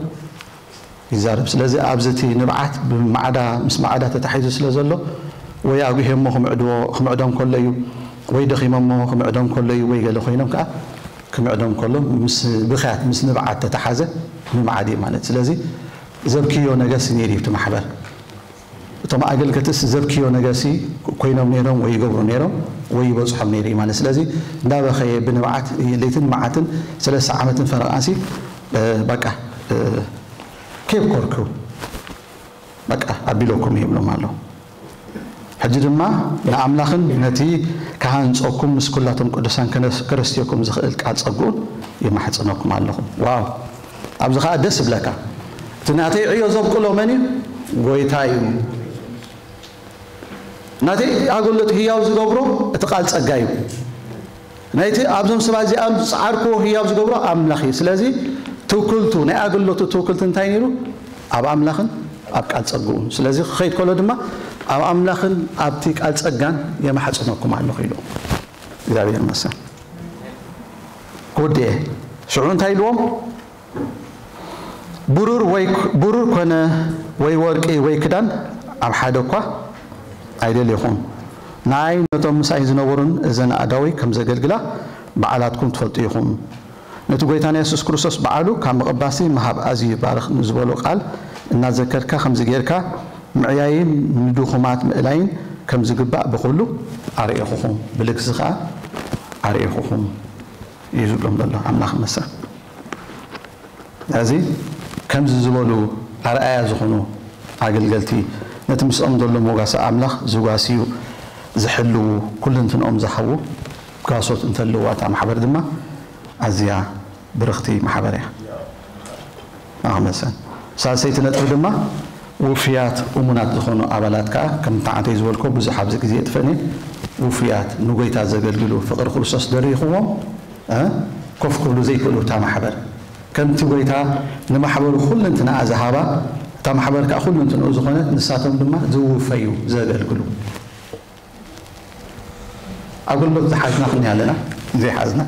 ይዛረብ። ስለዚ ኣብዚ እቲ ንብዓት ብማዕዳ፣ ምስ ማዕዳ ተታሒዙ ስለ ዘሎ፣ ወይ ኣጉሄሞ ክምዕድዎ፣ ክምዕዶም ከሎ እዩ፣ ወይ ደኺሞሞ ክምዕዶም ከሎ እዩ፣ ወይ ገለ ኮይኖም ከኣ ክምዕዶም ከሎ ምስ ብኽያት፣ ምስ ንብዓት ተተሓዘ ምምዓድ እዩ ማለት። ስለዚ ዘብክዮ ነገርሲ ነይሩ እዩ እቲ ማሕበር። እቶም ኣገልገልትስ ዘብክዮ ነገርሲ ኮይኖም ነይሮም፣ ወይ ይገብሩ ነይሮም፣ ወይ ይበጽሖም ነይሩ እዩ ማለት። ስለዚ እንዳበኸየ ብንብዓት ለይትን መዓትን ሰለስተ ዓመትን ፈረቓንሲ፣ እ፣ በቃ፣ እ፣ ኬብ ኮርኩ። በቃ ኣቢለኩም ይብሎም ኣሎ። ሕጂ ድማ ንኣምላኽን ነቲ ክሃንጸኩም ምስ ኩላቶም ቅዱሳን ከነስ-፣ ከረስትየኩም ዝኽእል ቃል ጸግኡን ይማሕጽነኩም ኣለኹ። ዋው! ኣብዚ ኸኣ ደስ ይብለካ። እቲ ናተይ ዕዮ ዘብቅሎ መን እዩ? ጎይታ እዩ። ናተይ ኣገልግሎት ህያው ዝገብሮ እቲ ቃል ጸጋ እዩ። ናይቲ ኣብዞም ሰባት እዚኣም ዝጸዓርክዎ ህያው ዝገብሮ ኣምላኽ እዩ። ስለዚ ትውክልቱ፣ ናይ ኣገልግሎቱ ትውክልቲ እንታይ ነይሩ? ኣብ ኣምላኽን ኣብ ቃል ጸግኡን። ስለዚ ክኸይድ ከሎ ድማ ኣብ ኣምላኽን ኣብቲ ቃል ጸጋን የማሕጽነኩም ኣለኹ ኢሉ። እግዚኣብሔር ይመስገን። ክውድእ እየ። ሽዑ እንታይ ኢልዎም? ብሩር ወይ፣ ብሩር ኮነ ወይ ወርቂ ወይ ክዳን ኣብ ሓደ እኳ ኣይደልኹም። ንኣይ ነቶም ምሳይ ዝነበሩን እዘን ኣእዳወይ ከም ዘገልግላ ባዕላትኩም ትፈልጡ ኢኹም። ነቲ ጐይታና የሱስ ክርስቶስ ባዕሉ ካብ ምቕባሲ ምሃብ ኣዝዩ ይባርኽ ንዝበሎ ቃል እናዘከርካ ከምዚ ጌርካ ምዕያይን ንድኹማት ምእላይን ከም ዝግባእ ብኹሉ ኣርኤኹኹም፣ ብልግሲ ኸኣ ኣርኤኹኹም እዩ ዝብሎም ዘሎ። ኣምላኽ ይመስገን። እዚ ከምዚ ዝበሉ ኣርኣያ ዝኾኑ ኣገልገልቲ፣ ነቲ ምስኦም ዘሎ ሞጋሲ ኣምላኽ ዝጓስዩ፣ ዝሕልዉ፣ ኩልንትንኦም ዝሃቡ ጋሶት እንተለዋ፣ እታ ማሕበር ድማ ኣዝያ ብርኽቲ ማሕበር እያ። ኣመሰን። ሳልሰይቲ ነጥቢ ድማ ውፍያት እሙናት ዝኾኑ ኣባላት ከኣ፣ ከም ተዓንተይ ዝበልኮ ብዙሕ ኣብዚ ግዜ የጥፈኒ፣ ውፍያት ንጎይታ ዘገልግሉ ፍቕሪ ክርስቶስ ደሪኽዎም፣ እ፣ ኮፍ ክብሉ ዘይክእሉ እታ ማሕበር። ከምቲ ጎይታ ንማሕበሩ ኩልንትናኣ ዝሃባ፣ እታ ማሕበር ከኣ ኩልንትንኡ ዝኾነት፣ ንሳቶም ድማ ዝውፈዩ ዘገልግሉ። ኣገልግሎት ዝሓዝና ክንያ ኣለና፣ ዘይሓዝና።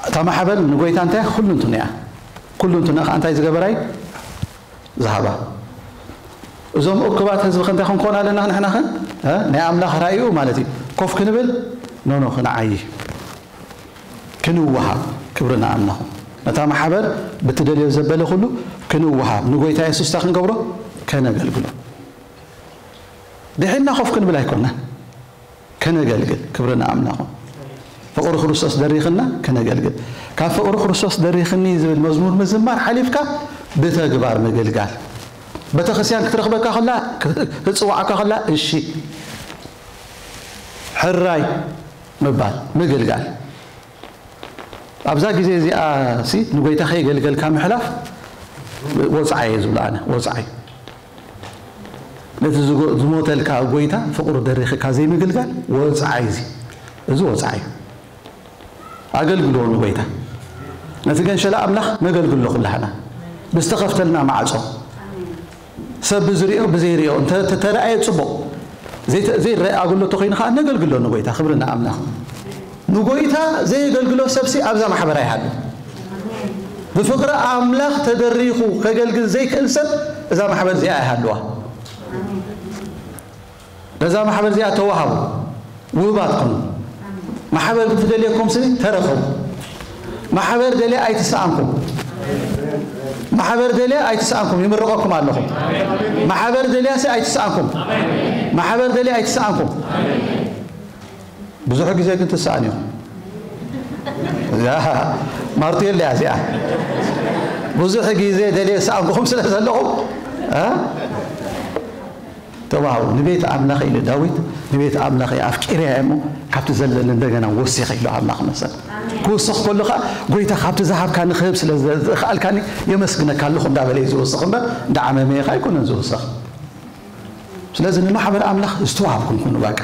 እታ ማሕበር ንጎይታ እንታይ ኩልንትንኡ እያ። ኩልንትንኡ ከኣ እንታይ ዝገበራይ? ዝሃባ። እዞም እኩባት ህዝቢ ከ እንታይ ክንኮን ኣለና ንሕና ከ? እ? ናይ ኣምላኽ ራእዩ ማለት እዩ። ኮፍ ክንብል? ኖ፣ ኖ፣ ክንዓዪ። ክንወሃብ። ክብሪ ንኣምላኹ። ነታ ማሕበር ብትደልዮ ዘበለ ኩሉ ክንወሃብ። ንጎይታ የሱስ እንታይ ክንገብሮ? ከነገልግሎ። ድሒና ኮፍ ክንብል ኣይኮናን። ከነገልግል። ክብሪ ንኣምላኹ። ፍቕሪ ክርስቶስ ደሪኽና ከነገልግል። ካብ ፍቕሪ ክርስቶስ ደሪኽኒ ዝብል መዝሙር ምዝማር ሓሊፍካ ብተግባር ምግልጋል። ቤተክርስትያን ክትረኽበካ ከላ፣ ክጽውዓካ ከላ፣ እሺ። ሕራይ ምባል፣ ምግልጋል። ኣብዛ ግዜ እዚኣ ሲ ንጎይታ ከየገልገልካ ምሕላፍ ወጽዓይ እየ ዝብሎ ኣነ፣ ወጽዓይ። ነቲ ዝጎ-፣ ዝሞተልካ ጎይታ ፍቕሩ ደሪኽካ ዘይምግልጋል ወጽዓይ እዚ። እዚ ወጽዓይ እዩ። ኣገልግልዎ ንጎይታ። ነቲ ገንሸላ ኣምላኽ ነገልግሎ ኩላህና። ብዝተኸፍተልና ማዕጾ። ሰብ ብዝሪኦ ብዘይሪኦ እንተ ተተረኣየ ጽቡቕ። ዘይተ-፣ ዘይረኣየ ኣገልግሎት ተኾይኑ ኸኣ ነገልግሎ ንጎይታ። ክብሪ ንኣምላኽ። ንጎይታ ዘየገልግሎ ሰብሲ ኣብዛ ማሕበር ኣይሃሉ። ብፍቕሪ ኣምላኽ ተደሪኹ ከገልግል ዘይክእል ሰብ እዛ ማሕበር እዚኣ ኣይሃልዋ። ነዛ ማሕበር እዚኣ ተዋሃቡ፣ ውህባት ኩኑ። ማሕበር ብትደልየኩም ስኒ ተረኸቡ። ማሕበር ደልያ ኣይትሰኣንኩም። ማሕበር ደልያ ኣይትሰኣንኩም፣ ይምርቐኩም ኣለኹ። ማሕበር ደልያ ሲ ኣይትሰኣንኩም። ማሕበር ደልያ ኣይትሰኣንኩም። ብዙሕ ግዜ ግን ትሰኣን ኢኹም። እዛ ማርቴል እያ እዚኣ። ብዙሕ ግዜ ደልየ ዝሰኣንኩኹም ስለ ዘለኹም፣ እ? ተዋህቡ። ንቤት ኣምላኽ ኢሉ ዳዊት፣ ንቤት ኣምላኽ ኣፍቂረ እየ እሞ ካብቲ ዘለኒ እንደገና ወሲኸ ኢሉ ኣምላኽ መሰል። ክውስኽ ከሎ ኸዓ፣ ጎይታ ካብቲ ዝሃብካኒ ክህብ ስለ ዝኸኣልካኒ የመስግነካ ኣለኹ እንዳበለ እዩ ዝውስኽ እምበር፣ እንዳዓመመ ኸዓ ኣይኮነን ዝውስኽ። ስለዚ ንማሕበር ኣምላኽ ዝተዋሃብኩም ኩኑ፣ በቃ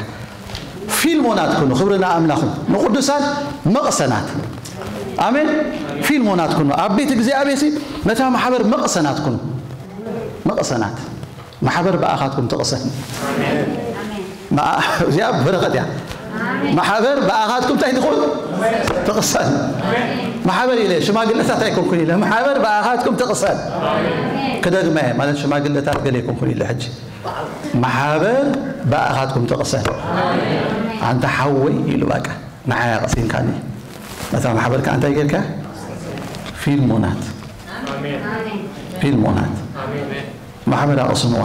ፊልሞናት ኩኑ። ክብሪ ንኣምላኹም። ንቅዱሳን መቕሰናት። ኣሜን። ፊልሞናት ኩኑ። ኣብ ቤት እግዚኣብሔር ሲ ነታ ማሕበር መቕሰናት ኩኑ። መቕሰናት። ማሕበር ብኣኻትኩም ትቕሰን። መኣ-፣ እዚኣ በረኸት እያ። ማሕበር ብኣኻትኩም እንታይ ትኹን? ትቕሰን። ማሕበር ኢለ ሽማግለታት ኣይኮንኩን ኢለ። ማሕበር ብኣኻትኩም ትቕሰን። ክደግመ እየ፣ ማለት ሽማግለታት ገለ ኣይኮንኩን ኢለ ሕጂ። ማሕበር ብኣኻትኩም ትቕሰን። ኣንታ ሓወይ ኢሉ በቃ ንዓይ ኣቕሲንካኒ። ነታ ማሕበር ከኣ እንታይ ጌርካ? ፊልሞናት። ፊልሞናት። ማሕበር ኣቕስንዋ።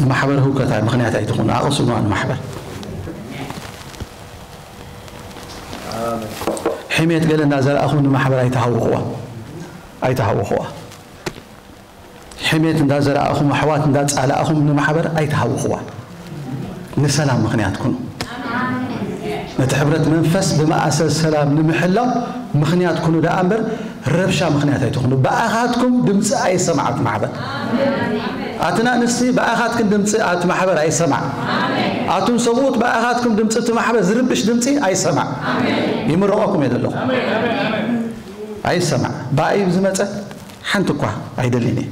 ንማሕበር ህውከት ኣይ-፣ ምኽንያት ኣይትኹኑ። ኣቕስንዋ ንማሕበር። ሕሜት ገለ እንዳዘራእኹም ንማሕበር ኣይትሃውኽዋ። ኣይትሃውኽዋ። ሕሜት እንዳዘራእኹም፣ ኣሕዋት እንዳጻላእኹም ንማሕበር ኣይትሃውኽዋ። ንሰላም ምኽንያት ኩኑ። ነቲ ሕብረት መንፈስ ብመኣሰር ሰላም ንምሕላው ምኽንያት ኩኑ ደኣ እምበር፣ ረብሻ ምኽንያት ኣይትኹኑ። ብኣኻትኩም ድምፂ ኣይሰማዕ እቲ ማሕበር። ኣትና ኣንስቲ ብኣኻትክን ድምፂ ኣቲ ማሕበር ኣይሰማዕ። ኣቱም ሰብኡት ብኣኻትኩም ድምፂ እቲ ማሕበር ዝርብሽ ድምፂ ኣይሰማዕ። ይምረቐኩም እየ ዘለኹ። ኣይሰማዕ። ብኣይ ብዝመፀ ሓንቲ እኳ ኣይደልን እየ።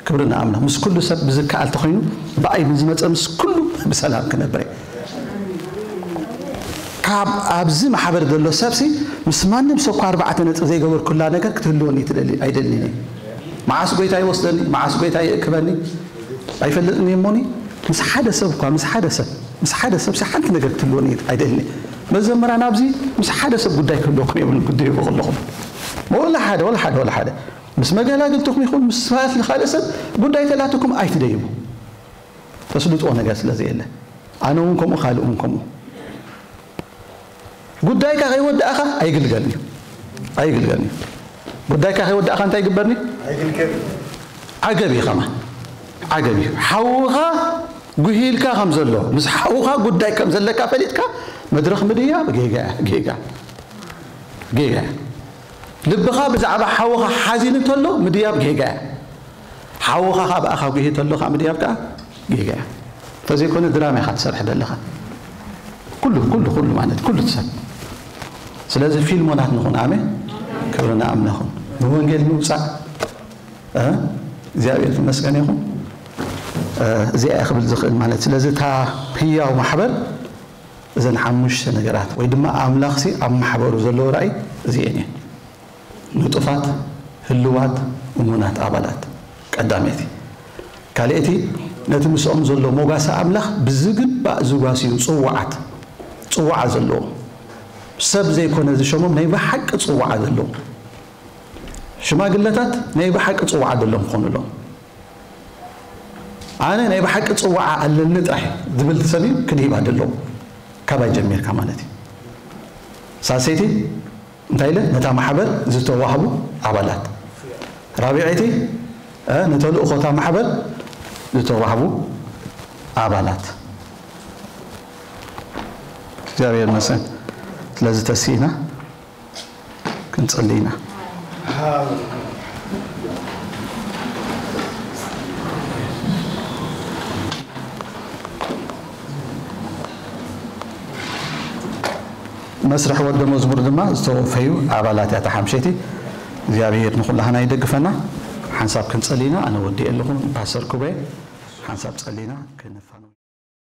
ክብሪ ንኣምላኽ። ምስ ኩሉ ሰብ ብዝከኣል ተኾይኑ ብኣይ ብዝመፀ ምስ ኩሉ ብሰላም ክነብር እየ። ካብ ኣብዚ ማሕበር ዘሎ ሰብሲ ምስ ማንም ሰብ እኳ ኣርባዕተ ነጥቢ ዘይገበርኩላ ነገር ክትህልወኒ ትደሊ ኣይደልን እየ። መዓስ ጎይታ ይወስደኒ፣ መዓስ ጎይታ ይእክበኒ ኣይፈልጥን እየ። እሞኒ ምስ ሓደ ሰብ እኳ፣ ምስ ሓደ ሰብ፣ ምስ ሓደ ሰብሲ ሓንቲ ነገር ክትህልወኒ ኣይደልን እየ። መዘምራን ኣብዚ ምስ ሓደ ሰብ ጉዳይ ክህልወኩም የብሉን፣ ክትድህቡ ከለኹም። ወላ ሓደ፣ ወላ ሓደ፣ ወላ ሓደ። ምስ መገላግልትኹም ይኹን ምስ ካልእ፣ ካልእ ሰብ ጉዳይ ተላትኩም ኣይትደይቡ። ተስልጥዎ ነገር ስለ ዘየለ። ኣነ እውን ከምኡ፣ ካልእ እውን ከምኡ። ጉዳይካ ከይወዳእኻ ኣይግልገልን እዩ። ኣይግልገልን እዩ። ጉዳይካ ከይወዳእኻ እንታይ ይግበርኒ? ኣይግልገልን። ዓገብ እዩ ከማ። ዓገብ እዩ። ሓውኻ ጉሂልካ ከም ዘሎ፣ ምስ ሓውኻ ጉዳይ ከም ዘለካ ፈሊጥካ መድረኽ ምድያብ ጌጋ፣ ጌጋ፣ ጌጋ። ልብኻ ብዛዕባ ሓውኻ ሓዚኑ እንተሎ ምድያብ ጌጋ እያ። ሓውኻ ካብ ኣኻ ጉሂ እንተሎ ከዓ ምድያብ ከዓ ጌጋ እያ። እንተዘይኮነ ድራማ ኢኻ ትሰርሕ ዘለኻ። ኩሉ፣ ኩሉ፣ ኩሉ ማለት ኩሉ ትሰብ። ስለዚ ፊልሞናት ንኹን። ኣሜን። ክብሪ ንኣምላኽ ይኹን። ንወንጌል ምውፃእ፣ እ፣ እግዚኣብሔር ዝመስገን ይኹን። እ፣ እዚኣ እየ ክብል ዝኽእል ማለት። ስለዚ እታ ህያው ማሕበር እዘን ሓሙሽተ ነገራት ወይ ድማ ኣምላኽሲ ኣብ ማሕበሩ ዘለዎ ራእይ እዚኤን እየን። ንጡፋት፣ ህልዋት፣ እሙናት ኣባላት ቀዳመይቲ። ካልኣይቲ፣ ነቲ ምስኦም ዘሎ ሞጋሲ ኣምላኽ ብዝግባእ ዝጓስዩ ጽዋዓት፣ ጽዋዓ ዘለዎም፣ ሰብ ዘይኮነ ዝሸሞም ናይ ብሓቂ ጽዋዓ ዘለዎም ሽማግለታት ናይ ብሓቂ ጽዋዓ ዘለዎም ክኾኑ ኣለዎም። ኣነ ናይ ብሓቂ ጽዋዓ ኣለኒ ጥራሕ ዝብል ሰብ እዩ ክድሂባ ደለዎ። ካባይ ጀሚርካ ማለት እዩ። ሳልሰይቲ እንታይ ኢለ? ነታ ማሕበር ዝተዋህቡ ኣባላት። ራብዐይቲ፣ እ፣ ንተልእኾታ ማሕበር ዝተዋህቡ ኣባላት። እግዚኣብሔር ይመስገን። ስለዚ ተስኢና ክንጽሊ ኢና። መስርሕ ወደ መዝሙር ድማ ዝተወፈዩ ኣባላት እያ እታ ሓምሸይቲ። እግዚኣብሔር ንኹላህና ይደግፈና። ሓንሳብ ክንጸሊ ኢና። ኣነ ወዲኤ ኣለኹ። ፓስተር ኩበ ሓንሳብ ጸሊና ክንፋነው።